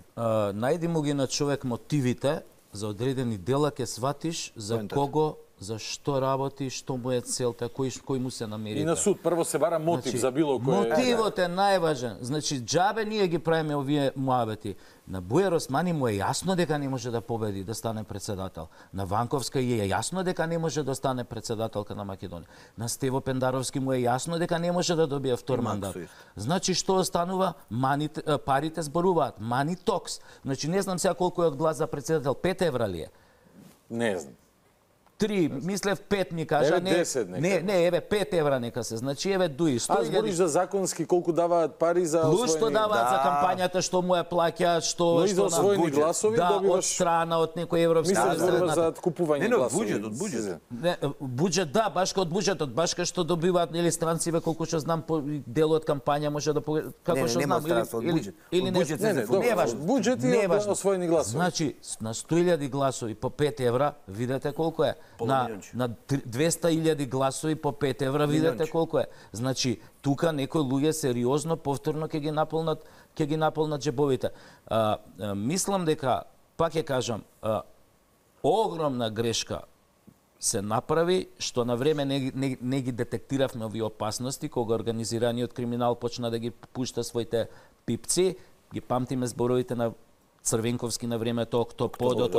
O: најди му ги на човек мотивите за одредени дела, ќе сватиш за кого, за што работи, што му е целта, кој му се намери.
A: И на суд прво се бара мотив за било кој.
O: Мотивот е најважен. Значи џабе ние ги правиме овие муабети. На Бујар Османи му е јасно дека не може да победи, да стане председател. На Ванковска е јасно дека не може да стане председателка на Македонија. На Стево Пендаровски му е јасно дека не може да добие втор мандат. Значи што останува? Парите зборуваат. Мани токс. Значи не знам сега колку е од глас за председател, 5 евра ли е?
A: Не знам.
O: 3, мислев 5 ми кажа,
A: еве 10 нека.
O: Не, еве 5 евра нека се. Значи еве дуи 100.
A: Збориш за законски колку даваат пари за
O: плюс што даваат за кампањата, што му е плаќаат, што
A: и за освоени гласови
O: од
A: добиваш
O: страна од некој европски
A: мислам за купување гласови.
N: Од буџет.
O: Не, буџет да, баш од буџетот, баш кај што добиваат нели странциве, колку што знам по дел од кампања може да како што знам или не важно.
A: Буџет и освоени гласови.
O: Значи на 100.000 гласови по 5 евра, видете колку е. На 200.000 гласови по 5 евра, видите колку е. Значи, тука некои луѓе сериозно повторно ќе ги наполнат џебовите. Мислам дека, пак ќе кажам, огромна грешка се направи, што на време не ги детектиравме овие опасности, кога организираниот криминал почна да ги пушта своите пипци, ги памтиме зборовите на Црвенковски на времето, октоподот.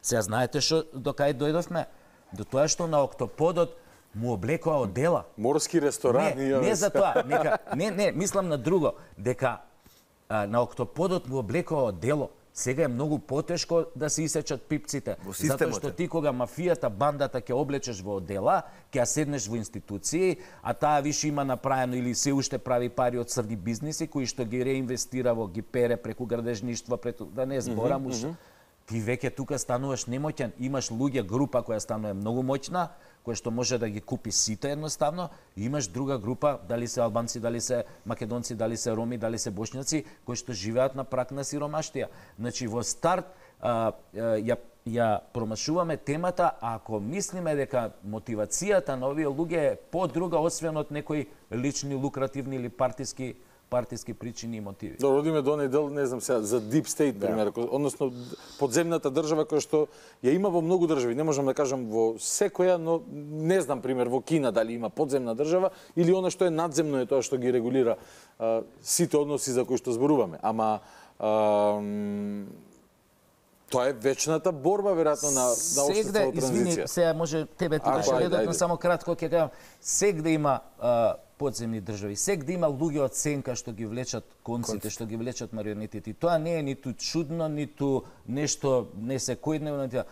O: Сега знаете што до кај дојдовме? До тоа што на октоподот му облекоа одела.
A: Морски ресторани.
O: Не за тоа, не, мислам на друго, дека на октоподот му облекоа одело. Сега е многу потешко да се исечат пипците, затоа што ти кога мафијата, бандата ќе облечеш во одела, ќе ја седнеш во институции, а таа више има направено или се уште прави пари од црни бизниси кои што ги реинвестира во, ги пере преку градежништва, да не зборам уш. Ти веќе тука стануваш немоќен, имаш луѓе, група која станува многу моќна, која што може да ги купи сите едноставно, и имаш друга група, дали се албанци, дали се македонци, дали се роми, дали се бошњаци, кои што живеат на праг на сиромаштија. Значи во старт ја промашуваме темата, ако мислиме дека мотивацијата на овие луѓе е подруга освен од некои лични, лукративни или партиски причини и мотиви.
A: Добро, одиме до недел, не знам сега, за Deep State, пример, односно подземната држава која што ја има во многу држави, не можам да кажам во секоја, но не знам, пример, во Кина дали има подземна држава или она што е надземно е тоа што ги регулира сите односи за кои што зборуваме. Ама тоа е вечната борба, веројатно, на општеството транзиција.
O: Извини, сега може тебе ти беше редот, но само кратко ќе кажам, сегде има подземни држави, сегде има луѓе од сенка што ги влечат конците, што ги влечат марионетите. Тоа не е ниту чудно, ниту нешто не секојдневно.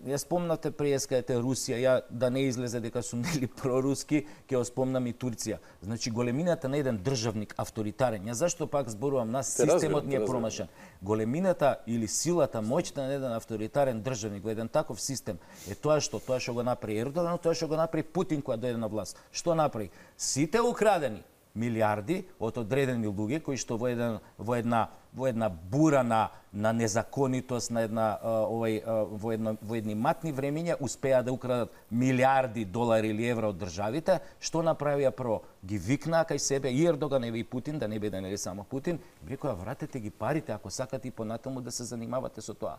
O: ја спомнате приескајте Русија, ја да не излезе дека сум нели проруски, ќе ја спомнам и Турција. Значи големината на еден државник авторитарен. Ја зашто пак зборувам, нас системот ни е промашен. Големината или силата, моќта на еден авторитарен државник во еден таков систем е тоа што го направи Ердоган, тоа што го направи Путин кога дојде на власт. Што направи? Сите украдени милиарди од одредени луѓе кои што во една бура на незаконитост, на една во едни матни времиња успеа да украдат милиарди долари или евра од државите. Што направија прво? Ги викнаа кај себе и Ердоган и Путин, да не биде нели само Путин, и рекоа вратете ги парите ако сакате и понатаму да се занимавате со тоа.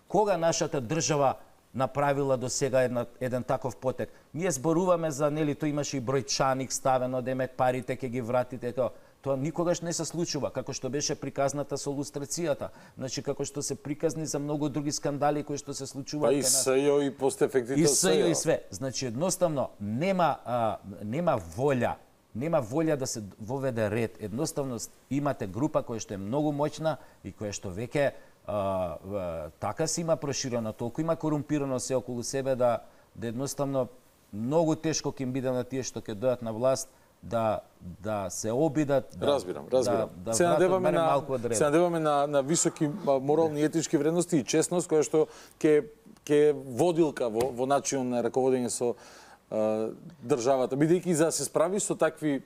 O: Кога нашата држава направила до сега еден таков потек? Ние зборуваме за, нели, тој имаше и бројчаник ставено, демек парите ќе ги вратите, тоа никогаш не се случува, како што беше приказната со лустрацијата, значи како што се приказни за многу други скандали кои што се случуваат.
A: Па и СЈО и постефектите од СЈО.
O: И све. Значи едноставно нема волја да се воведе ред. Едноставно имате група која што е многу моќна и која што веќе така се има проширено, толку има корумпирано се околу себе да едноставно многу тешко ќе им биде на тие што ќе дојдат на власт да се обидат.
A: Разбирам.
O: Се
A: надеваме на високи морални и етички вредности и честност која што ќе водилка во начин на раководење со државата, бидејќи за да се справи со такви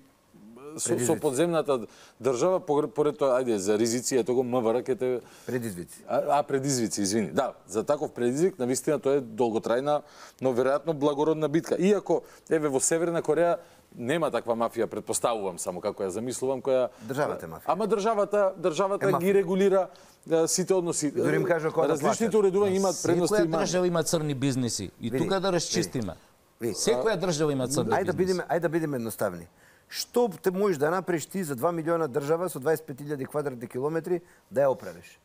A: со подземната држава, поред тоа, ајде, за ризици, ето го МВР ке те...
N: Предизвици.
A: Предизвици, извини. Да, за таков предизвик, навистина, тоа е долготрајна, но веројатно благородна битка. Иако, еве, во Северна Кореја нема таква мафија, предпоставувам само како ја замислувам, која...
N: Државата е мафија.
A: Ама државата ги регулира сите односи.
N: Дори им кажа која да платат.
A: Различните уредувања имаат предности и
O: мани. Секоја држава има црни бизниси. И тука да расчистиме. Секоја држава има црни бизниси.
N: Ајде да бидеме едноставни. Што те можеш да направиш ти за 2 милиона држава со 25.000 квадратни километри да ја оправиш?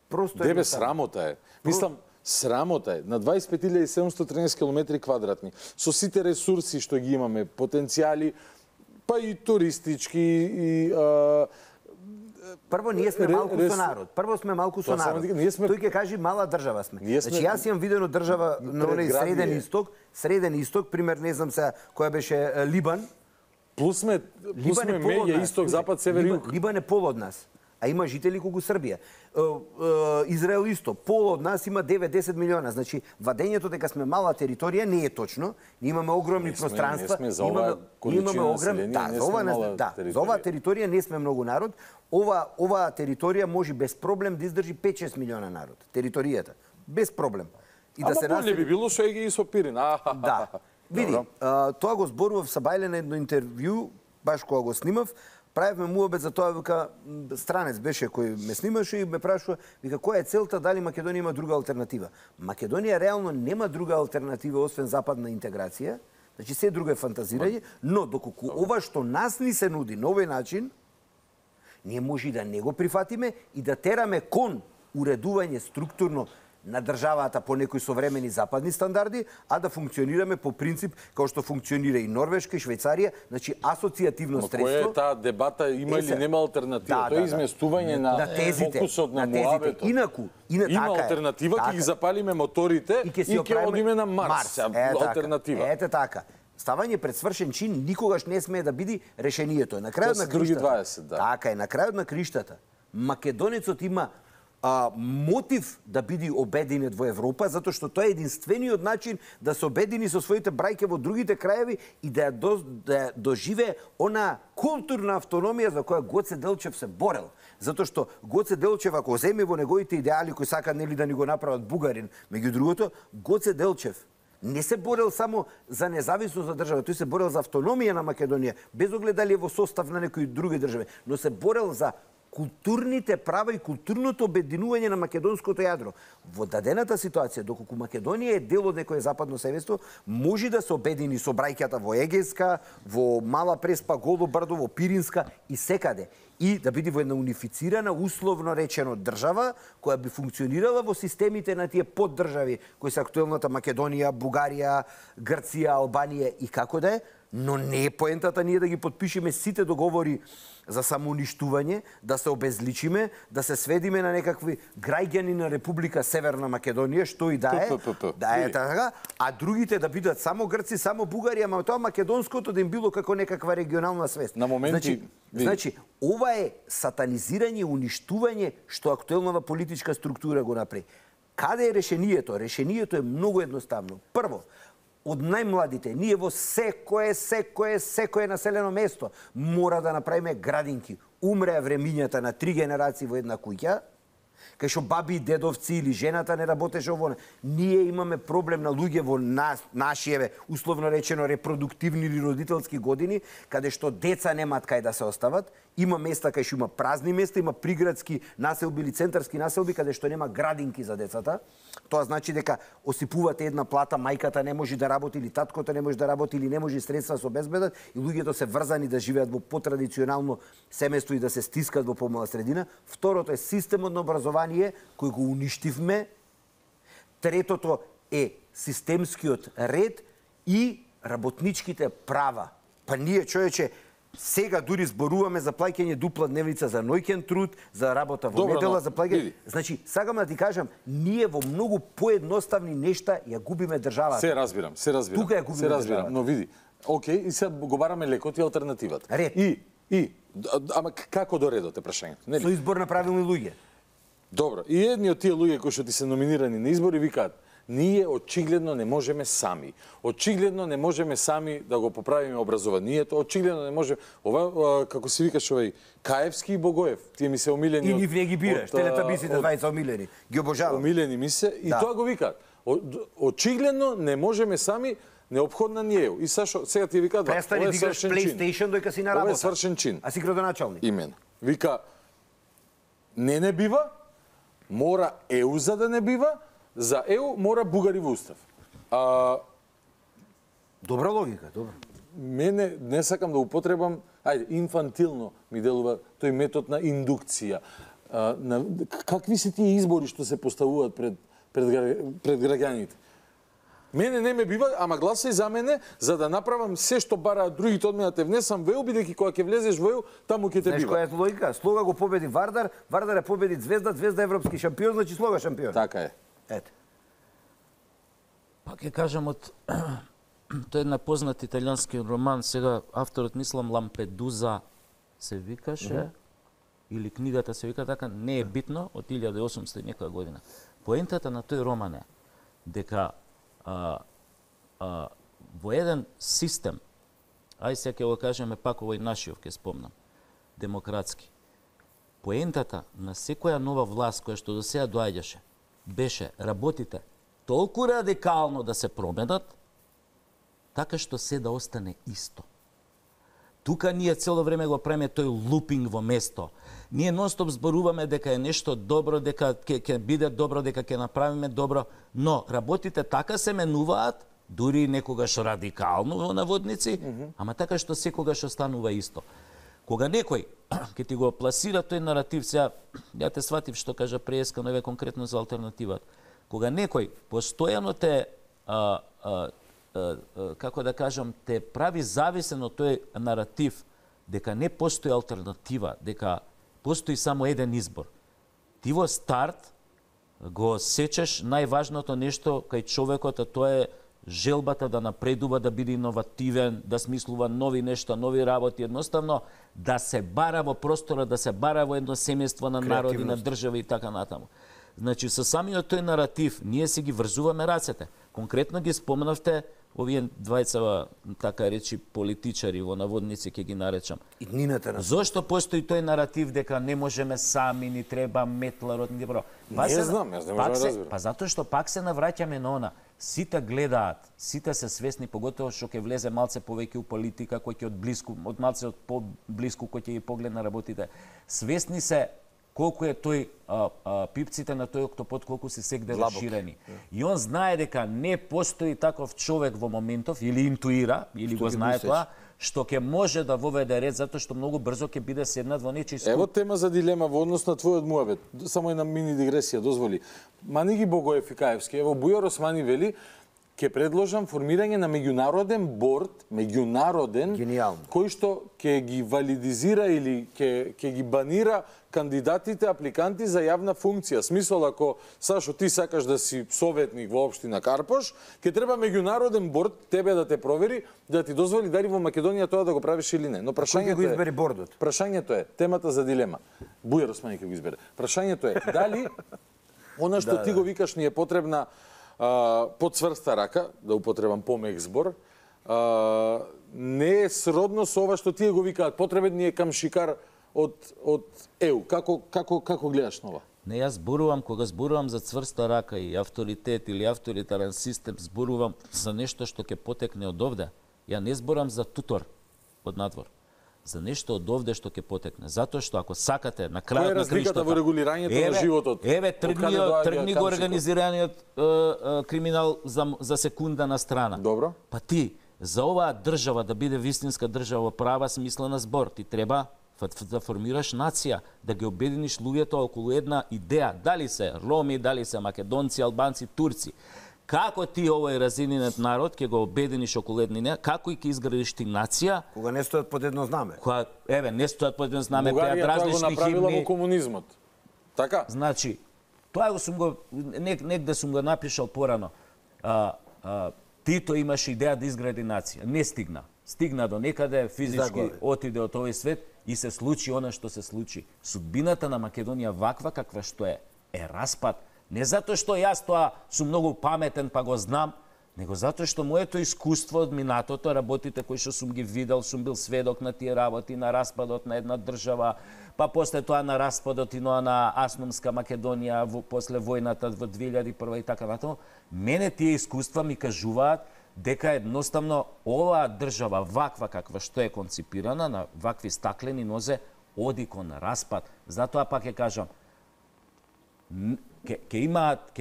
N: Просто
A: Дебе, срамота е. Мислам, срамота е. На 25.713 километри квадратни, со сите ресурси што ги имаме, потенцијали, па и туристички, и...
N: Прво, ние сме малку со народ. Тој ќе кажи мала држава сме. Значи, јас имам видено држава на оној Среден Исток, пример, не знам сега, која беше Либан.
A: Плюс сме меѓа, исток, запад, север, југ.
N: Либан е пол од нас, а има жители колку Србија. Израел исто, пол од нас има 9-10 милиона. Значи, вадењето дека сме мала територија не е точно. Ние имаме огромни пространства.
A: Не сме за оваа количина население, не сме мала територија.
N: За оваа територија не сме многу народ. Оваа територија може без проблем да издржи 5-6 милиона народ. Територијата. Без проблем.
A: Ама боле би било со Еге и со Пирин.
N: Да. Види, тоа го зборував са Бајле на едно интервју, баш кога го снимав, правевме муабет за тоа, вика, странец беше кој ме снимаше и ме прашува, вика, која е целта, дали Македонија има друга алтернатива? Македонија реално нема друга алтернатива освен западна интеграција, значи се друго е фантазирање, но доколку ова што нас ни се нуди на овој начин, ние може и да не го прифатиме и да тераме кон уредување структурно на државата по некои современи западни стандарди, а да функционираме по принцип како што функционира и Норвешка и Швајцарија, значи асоцијативно средство.
A: Но која е таа дебата, има или нема алтернатива? Тоа е изместување на фокусот на муабетот. Има алтернатива, ќе ги запалиме моторите и ќе одиме на Марс. Алтернатива.
N: Ете така. Ставање пред свршен чин никогаш не смее да биде решението. На крајот на
A: криштата.
N: Така е, на крајот на криштата. Македонецот има мотив да биде обединет во Европа, затоа што тоа е единствениот начин да се обедини со своите брајке во другите краеви и да доживее она културна автономија за која Гоце Делчев се борел. Затоа што Гоце Делчев, ако земе во неговите идеали кои сака нели да ни го направат бугарин, меѓу другото, Гоце Делчев не се борел само за независност за држава, тој се борел за автономија на Македонија, без оглед дали е во состав на некои други држави, но се борел за културните права и културното обединување на македонското јадро. Во дадената ситуација, доколку Македонија е дел од некое западно севество, може да се обедини со брајката во Егејска, во Мала Преспа, Голо Брдо, во Пиринска и секаде. И да биде во една унифицирана, условно речено, држава, која би функционирала во системите на тие поддржави, кои се актуелната Македонија, Бугарија, Грција, Албанија и како да е, Но не е поентата ние да ги подпишеме сите договори за самоуништување, да се обезличиме, да се сведиме на некакви граѓани на Република Северна Македонија, што и да е така, а другите да бидат само грци, само бугари, ама тоа македонското да им било како некаква регионална свест.
A: На моменти...
N: Значи, ова е сатанизирање, уништување што актуелната политичка структура го направи. Каде е решението? Решението е многу едноставно. Прво, од најмладите, ние во секое населено место мора да направиме градинки. Умреа времињата на 3 генерации во една куќа, кај што баби и дедовци или жената не работеше ово. Ние имаме проблем на луѓе во нашиеве, условно речено, репродуктивни или родителски години, каде што деца немаат кај да се остават. Има места кај што има празни места, има приградски населби или центарски населби каде што нема градинки за децата. Тоа значи дека осипувате една плата, мајката не може да работи или таткото не може да работи или не може средства да се обезбедат и луѓето се врзани да живеат во потрадиционално семејство и да се стискат во помала средина. Второто е системот на образование кој го уништивме. Третото е системскиот ред и работничките права. Па ние, човече, сега дури зборуваме за плаќање дупла дневница за ноќен труд, за работа во недела, за плаќање. Значи, сакам да ти кажам, ние во многу поедноставни нешта ја губиме државата.
A: Се разбирам.
N: Тука ја губиме државата.
A: Но види, окей, и сега го бараме лекот и алтернативата.
N: Ред.
A: Ама како до редот е прашањето?
N: Со избор на правилни луѓе.
A: Добро, и едни од тие луѓе кои што ти се номинирани на избори викаат: ние очигледно не можеме сами. Очигледно не можеме сами да го поправиме образованието. Очигледно не можеме. Ова, како се викаш овој, Каевски и Богоев, тие ми се омилени.
N: И нив не ги бираш, телетабисите двајца омилени. Ги обожавам.
A: Омилени ми се и тоа го викаат. Очигледно не можеме сами, неопходна ни е. И сега ти викаат,
N: престани да играш PlayStation дојка си на работа.
A: Ова е свршен чин.
N: А си градоначалник.
A: Именно. Вика, не бива, мора ЕУ за да не бива, за ЕУ мора бугари во устав.
N: Добра логика, добра.
A: Мене не сакам да употребам, инфантилно ми делува тој метод на индукција. Какви се тие избори што се поставуваат пред граѓаните? Мене не ме бива, ама гласај за мене, за да направам се што бараат другите од мене, те внесам во ЕУ, бидејќи кога ќе влезеш во ЕУ, таму ќе те бива.
N: Знаеш која е логика? Слога го победи Вардар, Вардар е победи Звезда, Звезда европски шампион, значи Слога шампион.
A: Така е.
N: Ете.
O: Па ќе кажам од тој една познат италијански роман, сега авторот мислам Лампедуза се викаше, или книгата се вика така, не е битно, од 1800 некоја година. Поентата на тој роман е дека во еден систем, сега ќе го кажеме пак овој нашиот, ќе спомнам, демократски. Поентата на секоја нова власт која што до сега доаѓаше, беше работите толку радикално да се променат, така што се да остане исто. Тука ние цело време го правиме тој лупинг во место. Ние нонстоп зборуваме дека е нешто добро, дека ќе биде добро, дека ќе направиме добро, но работите така се менуваат, дури некогаш радикално во наводници, ама така што секогаш останува исто. Кога некој ќе ти го пласира тој наратив, сега ја те сватив што кажа преска, но еве конкретно за алтернативата. Кога некој постојано те како да кажам, те прави зависен од тој наратив дека не постои алтернатива, дека постои само еден избор. Ти во старт го сечеш најважното нешто кај човекот, а тоа е желбата да напредува, да биде иновативен, да смислува нови нешта, нови работи, едноставно да се бара во простора, да се бара во едно семејство на народи, на држави и така натаму. Значи, со самиот тој наратив, ние си ги врзуваме рацете. Конкретно ги спомнавте овие двајца, така речи, политичари во наводници, ќе ги наречам. Зошто постои тој наратив дека не можеме сами, ни треба метларот, ни добро?
A: Не знам, јас не можам да разберам.
O: Па затоа што пак се навраќаме на она. Сите гледаат, сите се свесни, поготово што ќе влезе малце повеќе у политика, кој ќе од блиску, од малце од поблиску, кој ќе ги погледна работите. Свесни се колку е тој пипците на тој октопод, колку се сегде расширени. И он знае дека не постои таков човек во моментов, или интуира, или го знае тоа, што ќе може да воведе ред, затоа што многу брзо ќе биде седнат во нечи скуп.
A: Ево тема за дилема во однос на твојот муабет. Само една мини дигресија, дозволи. Маниги Богоев и Каевски, ево Бујар Османи вели, ќе предложам формирање на меѓународен борд, кој што ќе ги валидизира или ќе ги банира кандидатите, апликанти за јавна функција. Смисол, ако, Сашо, ти сакаш да си советник во општина Карпош, ќе треба меѓународен борд тебе да те провери, да ти дозволи дали во Македонија тоа да го правиш или не. Но прашањето
N: го избери бордот?
A: Прашањето е, темата за дилема. Бујар Османи ќе го избере. Прашањето е, дали она што ти го викаш ни е потребна подцврста рака, да употребам помек збор, не е сродно со ова што тие го викаат, потребен ни е камшикар од ЕУ. Како гледаш на ова?
O: Не, јас зборувам, кога зборувам за цврста рака и авторитет или авторитарен систем, зборувам за нешто што ќе потекне од овде. Ја не зборам за тутор од надвор. За нешто од овде што ќе потекне. Затоа што ако сакате на крајот на
A: криштата во регулирањето на животот.
O: Еве тргни го организираниот криминал за секунда на страна.
A: Добро.
O: Па ти за оваа држава да биде вистинска држава права смислена збор, ти треба да формираш нација, да ги обединиш луѓето околу една идеја, дали се роми, дали се македонци, албанци, турци. Како ти овој разининет народ ќе го обединиш околу една идеја, како и ќе изградиш ти нација?
N: Кога не стојат под едно знаме.
O: Кога не стојат под едно знаме, пеат различни химни.
A: Бугарија тоа го направила во комунизмот. Така?
O: Значи, тоа го сум го негде сум го напишал порано. Тито имаше идеја да изгради нација, не стигна. Стигна до некаде, физички отиде од овој свет и се случи она што се случи. Судбината на Македонија ваква каква што е распад. Не затоа што јас тоа сум многу паметен па го знам, него затоа што моето искуство од минатото, работите кои што сум ги видел, сум бил сведок на тие работи, на распадот на една држава, па после тоа на распадот и на Асномска Македонија после војната во 2001 и така натаму. Мене тие искуства ми кажуваат дека едноставно оваа држава ваква каква што е конципирана на вакви стаклени нозе оди кон распад. Затоа пак ќе кажам, ќе имаат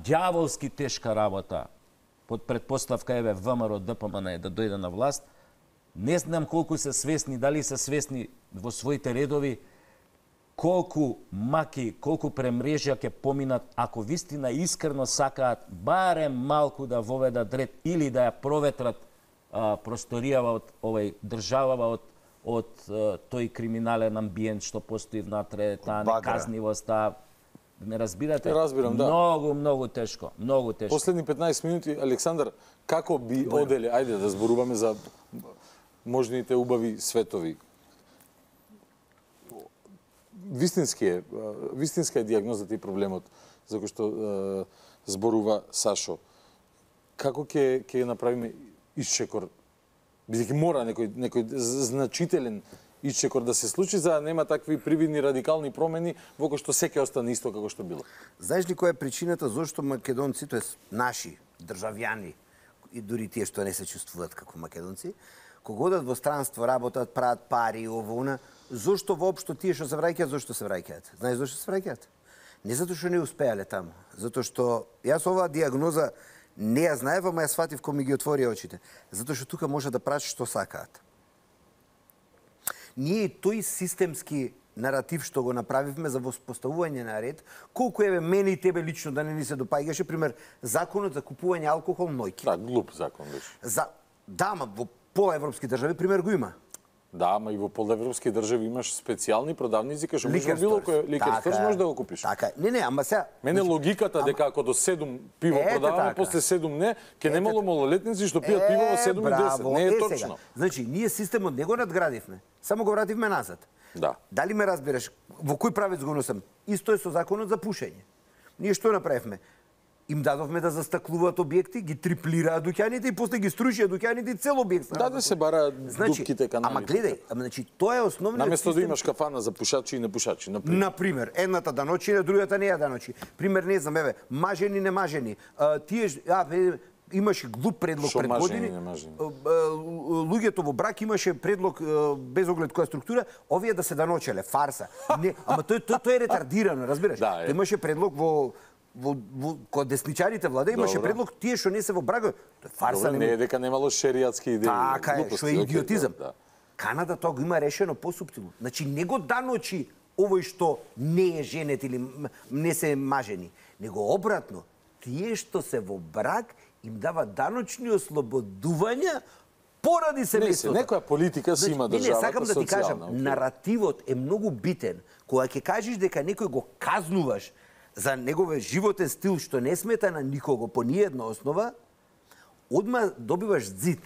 O: ѓаволски тешка работа под предпоставка еве ВМРО ДПМН да дојде на власт. Не знам колку се свесни, дали се свесни во своите редови колку маки, колку премрежја ќе поминат ако вистина искрено сакаат барем малку да воведат ред или да ја проветрат просторијава од овој државава од тој криминален амбиент што постои внатре, таа неказнивост, ме разбирате?
A: Разбирам, да.
O: Многу тешко, многу тешко.
A: Последни 15 минути, Александар, како би оделе, ајде да зборуваме за можните убави светови. Вистинска е дијагнозата и проблемот за кој што зборува Сашо. Како ќе направиме исчекор? Бидејќи мора некој значителен исчекор да се случи за да нема такви привидни радикални промени во кои што секој остане исто како што било.
N: Знаеш ли која е причината зошто македонци, тоест наши државјани и дури тие што не се чувствуваат како македонци, кога одат во странство, работат, прават пари, ово, зошто воопшто тие што се враќаат, зошто се враќаат? Знаеш зошто се враќаат? Не затоа што не успеале таму, затоа што јас оваа дијагноза не ја знаев, ама ја сватив кога ми ги отворија очите. Затоа што тука може да правиш што сакаат. Ние тој системски наратив што го направивме за воспоставување на ред, колку еве мене и тебе лично да не ни се допаѓаше, пример, законот за купување алкохол нојки.
A: Да, глуп закон беше.
N: Да, ама во полаевропски држави пример го има.
A: Да, ама и во полаевропски држави имаш специјални продавници кај што можеш било кој ликер сторс можеш да го купиш.
N: Така, не, ама сега
A: мене логиката дека ако до 7 пиво продаваме, после 7 не, ќе немало малолетници што пијат пиво во 7 и 10. Не е точно.
N: Значи, ние системот не го надградивме, само го вративме назад.
A: Да.
N: Дали ме разбираш? Во кој правец го носам? Исто е со законот за пушење. Ние што направивме? Им дадовме да застаклуваат објекти, ги триплираат дуќаните и после ги струшија дуќаните и цел објект.
A: Да се бара дупките канали.
N: Ама гледај, значи тоа е основниот
A: наместо да имаш кафана за пушачи и непушачи,
N: например, едната да ночи, другата не ја да ночи. Пример, не знам, еве, мажени, немажени. Тие имаше глуп предлог пред години. Луѓето во брак имаше предлог без оглед која структура, овие да се даночеле, фарса. Не, ама тоа е ретардирано, разбираш?
A: Да,
N: имаше предлог кога десничарите влада имаше предлог тие што не се во брак. Тоа фарса.
A: Не е дека немало шеријатски идеи.
N: Така е, што е идиотизам. Канада тоа го има решено посуптилно. Значи не го даночи овој што не е женет или не се мажени, него обратно. Тие што се во брак им дава даночни ослободувања поради семејството.
A: Некоја политика си има државата,
N: сакам да ти кажам,
A: социјална,
N: наративот е многу битен. Кога ќе кажеш дека некој го казнуваш за неговиот животен стил што не смета на никого по ниедна основа, одма добиваш зид.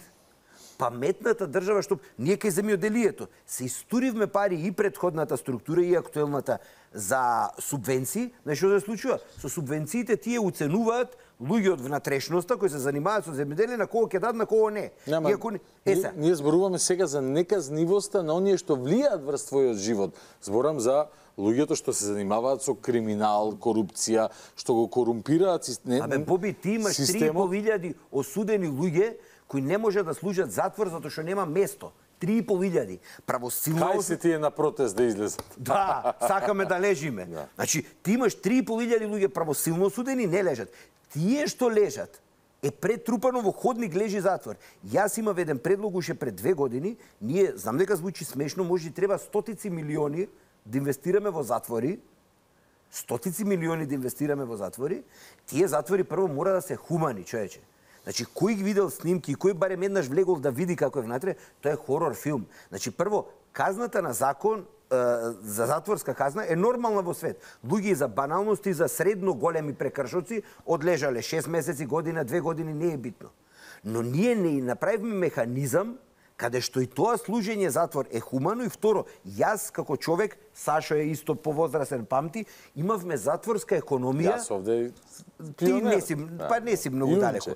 N: Паметната држава што ние кај земјоделието се истуривме пари и претходната структура и актуелната за субвенции, знаеш што се случува? Со субвенциите тие уценуваат луѓе од внатрешноста кои се занимаваат со земјоделие на кого ќе дадат, на кого не.
A: Ние зборуваме сега за неказнивоста на оние што влијаат врз твојот живот. Зборам за луѓето што се занимаваат со криминал, корупција, што го корумпираат системот.
N: Боби, ти имаш 3.500 осудени луѓе кои не може да служат затвор затоа што нема место. 3.500. Правосилно...
A: Кај се тие на протест да излезат?
N: Да, сакаме да лежиме. Значи, ти имаш 3.500 луѓе правосилно осудени, не лежат. Тие што лежат е претрупано во ходник лежи затвор. Јас имав еден предлог уште пред 2 години, ние, знам дека звучи смешно, може и треба стотици милиони да инвестираме во затвори, стотици милиони да инвестираме во затвори, тие затвори прво мора да се хумани, човече. Значи, кој ги видел снимки, кој барем еднаш влегол да види како е внатре, тоа е хорор филм. Значи, прво, казната на закон за затворска казна е нормална во свет. Луѓе за баналности, за средно големи прекршоци одлежале 6 месеци, година, 2 години, не е битно. Но ние не направивме механизам каде што и тоа служење затвор е хумано и второ, јас како човек, Сашо е исто повозрасен памти, имавме затворска економија.
A: Јас овде
N: Ти не си, па не си многу далеко.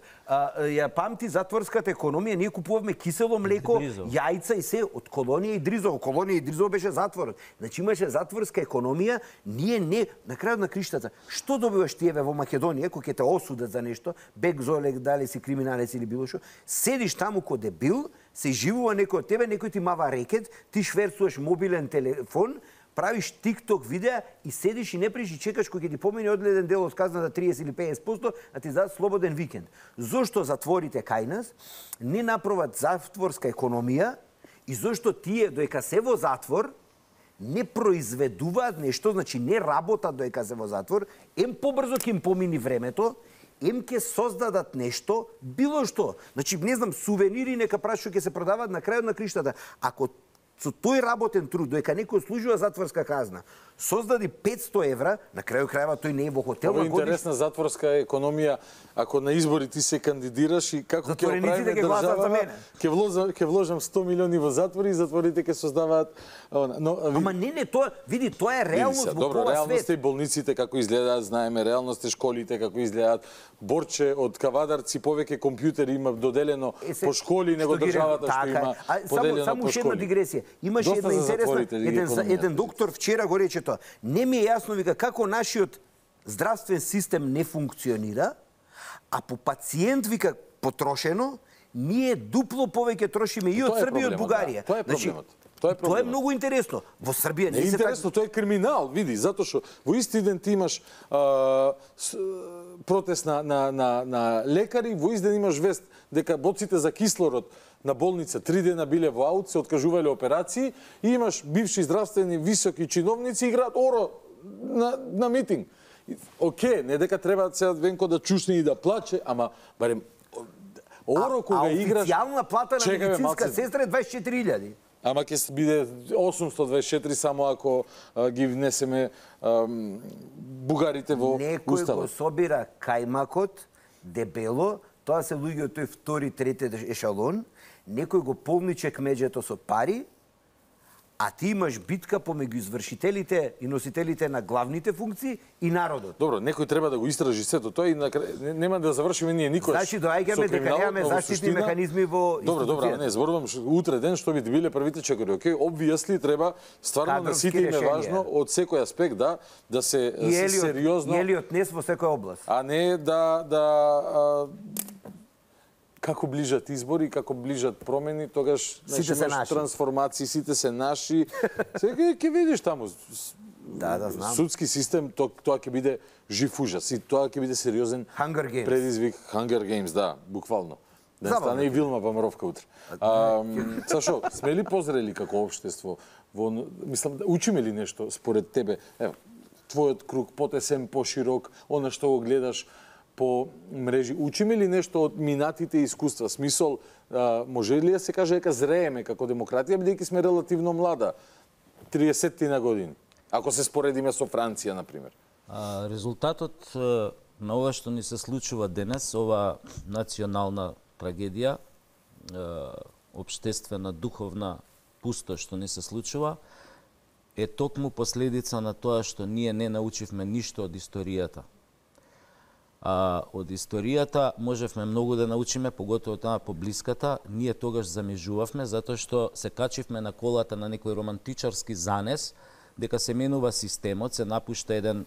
N: Ја памти затворската економија, ние купувавме кисело млеко, јајца и се од Колонија и Дризово. Колонија и Дризово беше затворот. Значи имаше затворска економија, ние не, на крајот на криштата, што добиваш тие во Македонија, кој ќе те осудат за нешто, бек золек, дали си криминалец или било што, седиш таму ко дебил, се живува некој од тебе, некој ти мава рекет, ти шверцуваш мобилен телефон, правиш тикток видеа и седиш и не приш и чекаш кој ќе ти помине одгледен дел од казната 30 или 50%, а ти дадат слободен викенд. Зошто затворите кај нас не направат затворска економија и зошто тие доека се во затвор не произведуваат нешто, значи не работат доека се во затвор, побрзо ќе им помини времето, ќе создадат нешто, било што. Значи, не знам, сувенири нека прашаат ќе се продаваат на крајот на криштата. Ако со тој работен труд, доека некој служува затворска казна, создади 500 евра, на крајот крајава тој не е во хотел.
A: Ова е интересна затворска економија, ако на избори ти се кандидираш и како ќе оправиме држава, ќе вложам 100 милиони во затвори и затворите ќе создаваат...
N: Ама не, тоа, види, тоа е реалност во
A: добро,
N: ова свет.
A: реалност е болниците како изгледаат, знаеме, реалност е школите како изгледаат. Борче од Кавадарци повеќе компјутери има доделено по школи него државата што има поделено по школи.
N: Само уште една дигресија. Имаше една интересна, еден доктор вчера го рече тоа. Не ми е јасно, вика, како нашиот здравствен систем не функционира, а по пациент, вика, потрошено, ние дупло повеќе трошиме и од Србија и од Бугарија.
A: Тоа е проблемот.
N: Тоа е многу интересно. Во Србија
A: не е интересно, тоа е криминал, види, затоа што во исти ден ти имаш протест на лекари, во исти ден имаш вест дека боците за кислород на болница 3 дена биле во аут, се откажувале операции и имаш бивши здравствени високи чиновници играат оро на митинг. Оке, не дека треба сега Венко да чушне и да плаче, ама барем оро кога играш...
N: Официјална плата на медицинска сестра е 24.000.
A: Ама ќе биде 824 само ако ги внесеме бугарите во
N: Некој го собира кајмакот дебело, тоа се луѓе од тој втори, трети ешалон, некој го полниче кмеџето со пари, а ти имаш битка помеѓу извршителите и носителите на главните функции и народот.
A: Добро, некој треба да го истражи сето тоа и нема да завршиме ние никош.
N: Значи доаѓаме дека немаме заштитни механизми во
A: институцијата. Добро, не, зборувам утре ден што би биле првите чекори. Океј, обвијасли треба стварно на сите им е важно од секој аспект да се сериозно.
N: И Елиот Нес во секоја област.
A: А не како ближат избори, како ближат промени, тогаш
N: сите се наши
A: трансформации, сите се наши. Сега ќе видиш таму.
N: Да, знам.
A: Судски систем, тоа ќе биде жив ужас и тоа ќе биде сериозен предизвик. Hunger Games, да, буквално. Да стане и Вилма Вамаровка утре. Сашо, сме ли позрели како општество? Мислам, учиме ли нешто според тебе? Ево, твојот круг потесен, поширок, она што го гледаш, по мрежи. Учиме ли нешто од минатите искуства? Смисол, може ли да се каже дека зрееме како демократија, бидејќи сме релативно млада, 30 на години, ако се споредиме со Франција, например?
O: Резултатот на ова што ни се случува денес, ова национална трагедија, општествена, духовна пустош што ни се случува, е токму последица на тоа што ние не научивме ништо од историјата. Од историјата можевме многу да научиме, поготово таа поблиската. Ние тогаш замижувавме, затоа што се качивме на колата на некој романтичарски занес, дека се менува системот, се напушта еден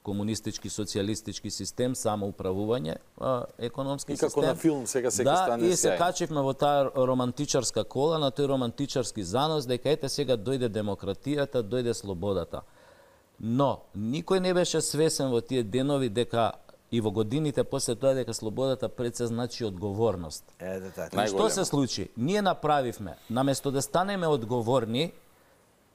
O: комунистички, социјалистички систем, самоуправување, економски систем.
A: И како на филм сега се стане
O: и се качивме во таа романтичарска кола, на тој романтичарски занос, дека ете сега дојде демократијата, дојде слободата. Но, никој не беше свесен во тие денови дека и во годините после тоа дека слободата пред се значи одговорност. Што се случи? Ние направивме, наместо да станеме одговорни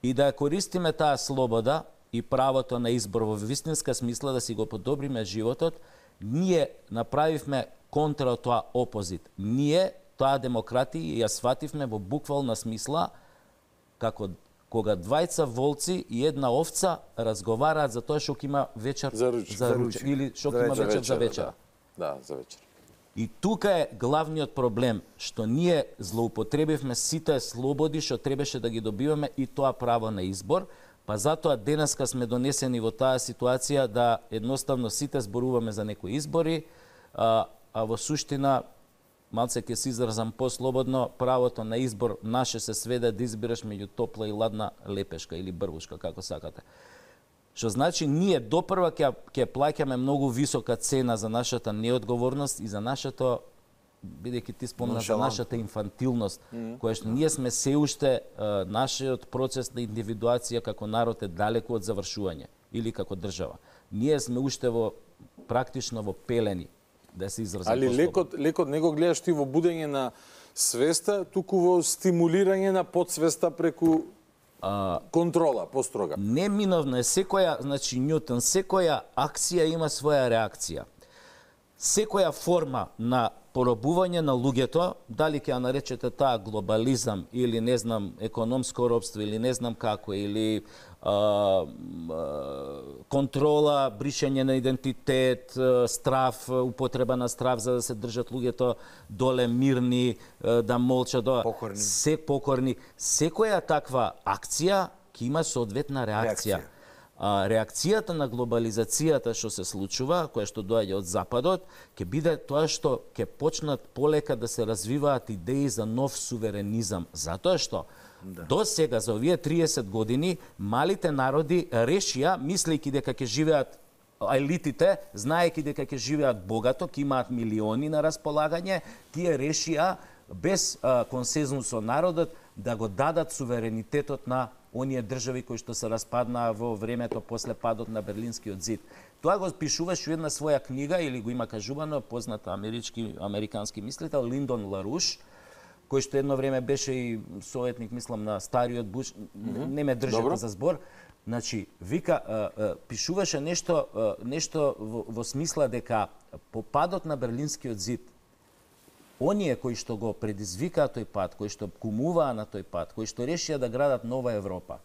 O: и да ја користиме таа слобода и правото на избор во вистинска смисла да си го подобриме животот, ние направивме контра од тоа опозит. Ние, таа демократија, ја свативме во буквална смисла како кога двајца волци и една овца разговараат за тоа што има вечер за ручек или што има вечер за вечер.
A: Да, за вечер.
O: И тука е главниот проблем, што ние злоупотребивме сите слободи што требаше да ги добиваме и тоа право на избор, па затоа денеска сме донесени во таа ситуација да едноставно сите зборуваме за некои избори, а во суштина малце ќе се изразам послободно, правото на избор наше се сведе да избираш меѓу топла и ладна лепешка или брвушка, како сакате. Што значи ние допрва ќе плаќаме многу висока цена за нашата неодговорност и за нашето, бидејќи ти спомна за нашата инфантилност, која што ние сме се уште нашиот процес на индивидуација како народ е далеку од завршување или како држава. Ние сме уште во практично во пелени. Да се изразам.
A: Али лекот не го гледаш ти во будење на свеста, туку во стимулирање на подсвеста преку контрола построга.
O: Неминовно е секоја, значи Њутон, секоја акција има своја реакција. Секоја форма на поробување на луѓето, дали ќе ја наречете таа глобализам или не знам економско робство или не знам како, или контрола, бришење на идентитет, страв, употреба на страв за да се држат луѓето доле мирни, да молчат, покорни. Секоја таква акција ќе има соодветна реакција. Реакцијата на глобализацијата што се случува, која што доаѓа од Западот, ќе биде тоа што ќе почнат полека да се развиваат идеи за нов суверенизам. Затоа што до сега, за овие 30 години, малите народи решија, мислејќи дека ќе живеат елитите, знаејќи дека ќе живеат богато, ќе имаат милиони на располагање, тие решија без консензус со народот да го дадат суверенитетот на оние држави кои што се распаднаа во времето после падот на Берлинскиот зид. Тоа го пишуваш во една своја книга, или го има кажувано познат американски мислител Линдон Ларуш, кој што едно време беше и советник, мислам, на стариот Буш, не ме држите за збор. Значи, вика, пишуваше нешто во смисла дека по падот на Берлинскиот зид, оние кои што го предизвикаа тој пат, кои што кумуваа на тој пат, кои што решија да градат нова Европа,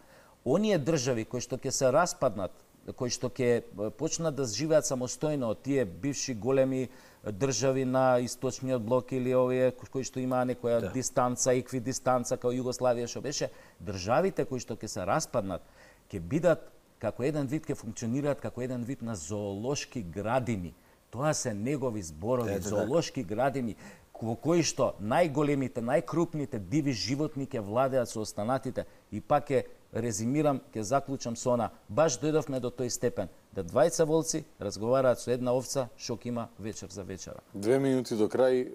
O: оние држави кои што ќе се распаднат, кои што ќе почнат да живеат самостојно од тие бивши големи држави на источниот блок или овие кои што имаа некоја дистанца, еквидистанца као Југославија што беше, државите кои што ќе се распаднат ќе бидат како еден вид, ќе функционираат како еден вид на зоолошки градини. Тоа се негови зборови, зоолошки градини, во кои што најголемите, најкрупните диви животни ќе владеат со останатите. И пак ќе резимирам, ќе заклучам со она. Баш дојдовме до тој степен да двајца волци разговараат со една овца што ќе има вечер за вечера.
A: 2 минути до крај.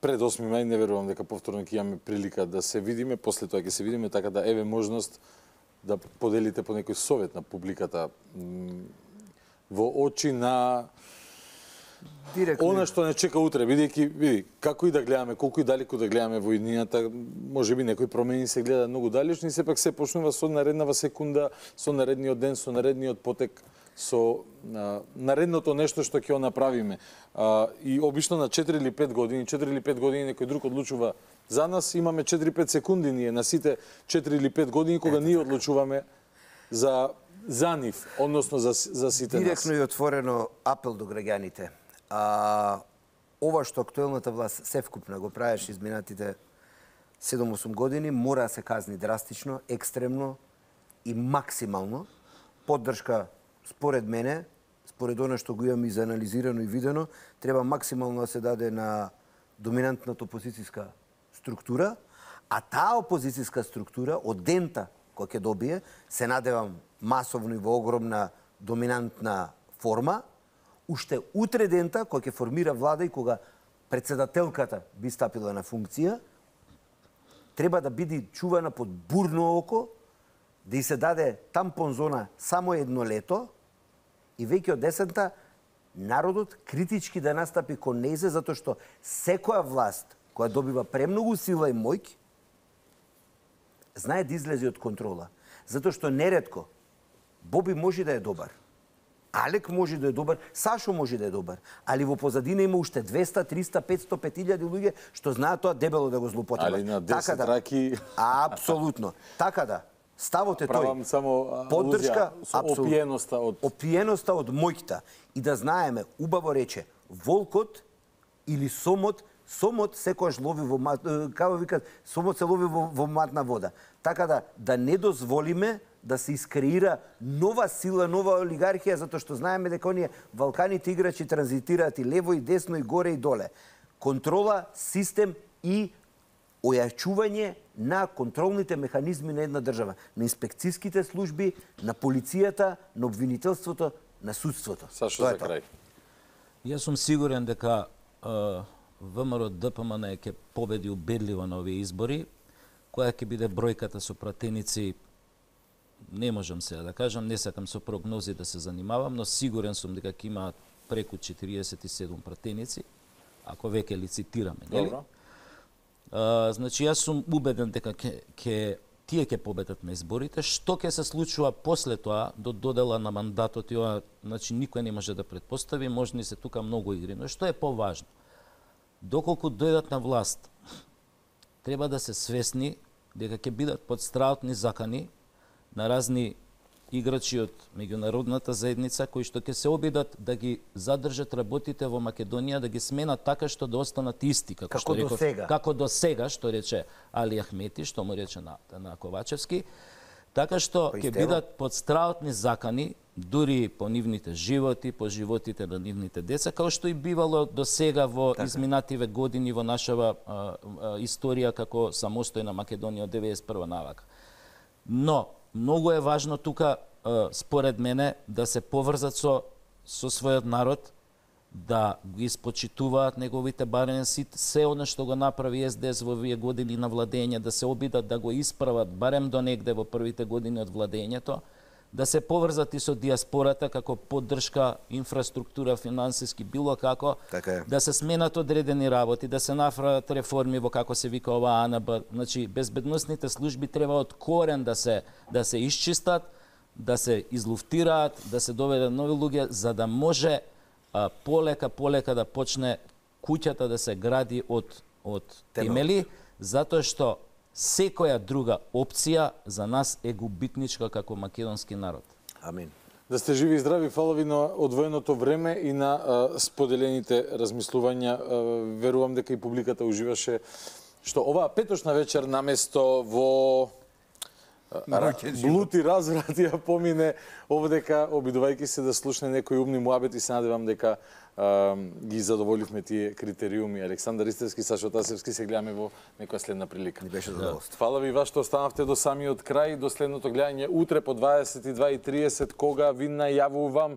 A: Пред 8 мај не верувам дека повторно ќе имаме прилика да се видиме, после тоа ќе се видиме, така да еве можност да поделите по некој совет на публиката во очи на она што не чека утре, види, како и да гледаме, колку и далеку да гледаме во иднината, можеби некои промени се гледаат многу далечни, сепак се почнува со нареднава секунда, со наредниот ден, со наредниот потек со наредното нешто што ќе го направиме. И обично на 4 или 5 години, 4 или 5 години некој друг одлучува за нас, имаме 4-5 секунди ние на сите 4 или 5 години кога ние одлучуваме за нив, односно за сите нас.
N: Директно и отворено апел до граѓаните. Ова што актуелната власт севкупна го правеше изминатите 7-8 години, мора да се казни драстично, екстремно и максимално. Поддршка, според мене, според оно што го имам изанализирано и видено, треба максимално да се даде на доминантната опозицијска структура, а таа опозицијска структура од дента која ќе добие, се надевам масовно и во огромна доминантна форма, уште утре дента која ќе формира влада и кога председателката би стапила на функција, треба да биде чувана под бурно око, да и се даде тампон зона само едно лето и веќе од десента народот критички да настапи кон нејзе, затоа што секоја власт која добива премногу сила и моќ, знае да излезе од контрола. Затоа што неретко Боби може да е добар, Алек може да е добар, Сашо може да е добар, али во позадина има уште 200, 300, 500, 5000 луѓе што знаат тоа дебело да го злоупотребат.
A: Али на 10 раки...
N: Апсолутно. Така да, ставот е тој.
A: Правам само
N: поддршка,
A: опиеноста
N: од моќта. И да знаеме, убаво рече, волкот или сомот секојаш лови во како викат, сомот се лови во матна вода. Така да не дозволиме да се искреира нова сила, нова олигархија, затоа што знаеме дека оние валканите играчи транзитираат и лево и десно и горе и доле. Контрола, систем и ојачување на контролните механизми на една држава, на инспекцијските служби, на полицијата, на обвинителството, на судството.
A: Сашо, за крај.
O: Јас сум сигурен дека ВМРО ДПМН ќе победи убедливо на овие избори. Која ќе биде бројката со пратеници, не можам сега да кажам, не сакам со прогнози да се занимавам, но сигурен сум дека ќе има преку 47 пратеници, ако веќе лицитираме, нели?
A: Добро.
O: Значи, јас сум убеден дека тие ќе победат на изборите. Што ќе се случува после тоа, до додела на мандатот, и ова, значи, никој не може да предпостави, можни се тука многу игри, но што е поважно? Доколку дојдат на власт, треба да се свесни дека ќе бидат под страотни закани на разни играчи од меѓународната заедница кои што ќе се обидат да ги задржат работите во Македонија, да ги сменат така што да останат исти, како до сега, што рече Али Ахмети, што му рече на Ковачевски, така што ќе бидат под страотни закани, дури по нивните животи, по животите на нивните деца, како што и бивало до сега во изминативе години во нашава историја како самостојна Македонија од 91 навака. Но многу е важно тука, според мене, да се поврзат со својот народ, да ги испочитуваат неговите барен сит, се оно што го направи СДС во овие години на владење, да се обидат да го исправат барем до негде во првите години од владењето, да се поврзат и со диаспората како поддршка, инфраструктура, финансиски, било како, да се сменат одредени работи, да се направат реформи во како се вика ова АНБ. Значи, безбедносните служби треба од корен да се исчистат, да се излуфтираат, да се доведат нови луѓе, за да може полека да почне куќата да се гради од темели, затоа што секоја друга опција за нас е губитничка како македонски народ.
N: Амин.
A: Да сте живи и здрави, фала ви на одвоеното време и на споделените размислувања. Верувам дека и публиката уживаше што оваа петочна вечер наместо во блуд и разврат ја помине овдека, обидувајќи се да слушне некои умни муабети, се надевам дека ги задоволивме тие критериуми. Александар Истевски, Сашо Тасевски, се гледаме во некоја следна прилика.
N: Ни беше задоволство.
A: Фала ви вас што останавте до самиот крај, до следното гледање утре по 22:30, кога ви најавувам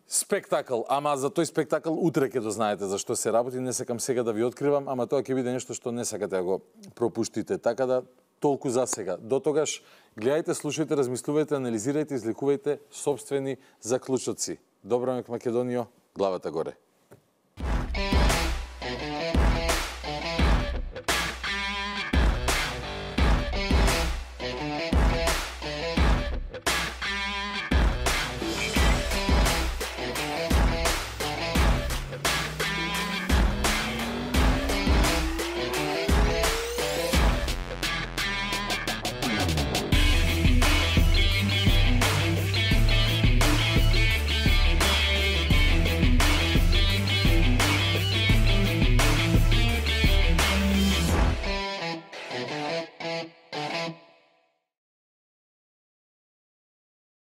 A: спектакл. Ама за тој спектакл утре ќе дознаете за што се работи, не сакам сега да ви откривам, ама тоа ќе биде нешто што не сакате да го пропуштите. Така да толку за сега. До тогаш гледајте, слушајте, размислувајте, анализирајте, излекувајте собствени заклучоци. Добро ме Македонијо, главата горе.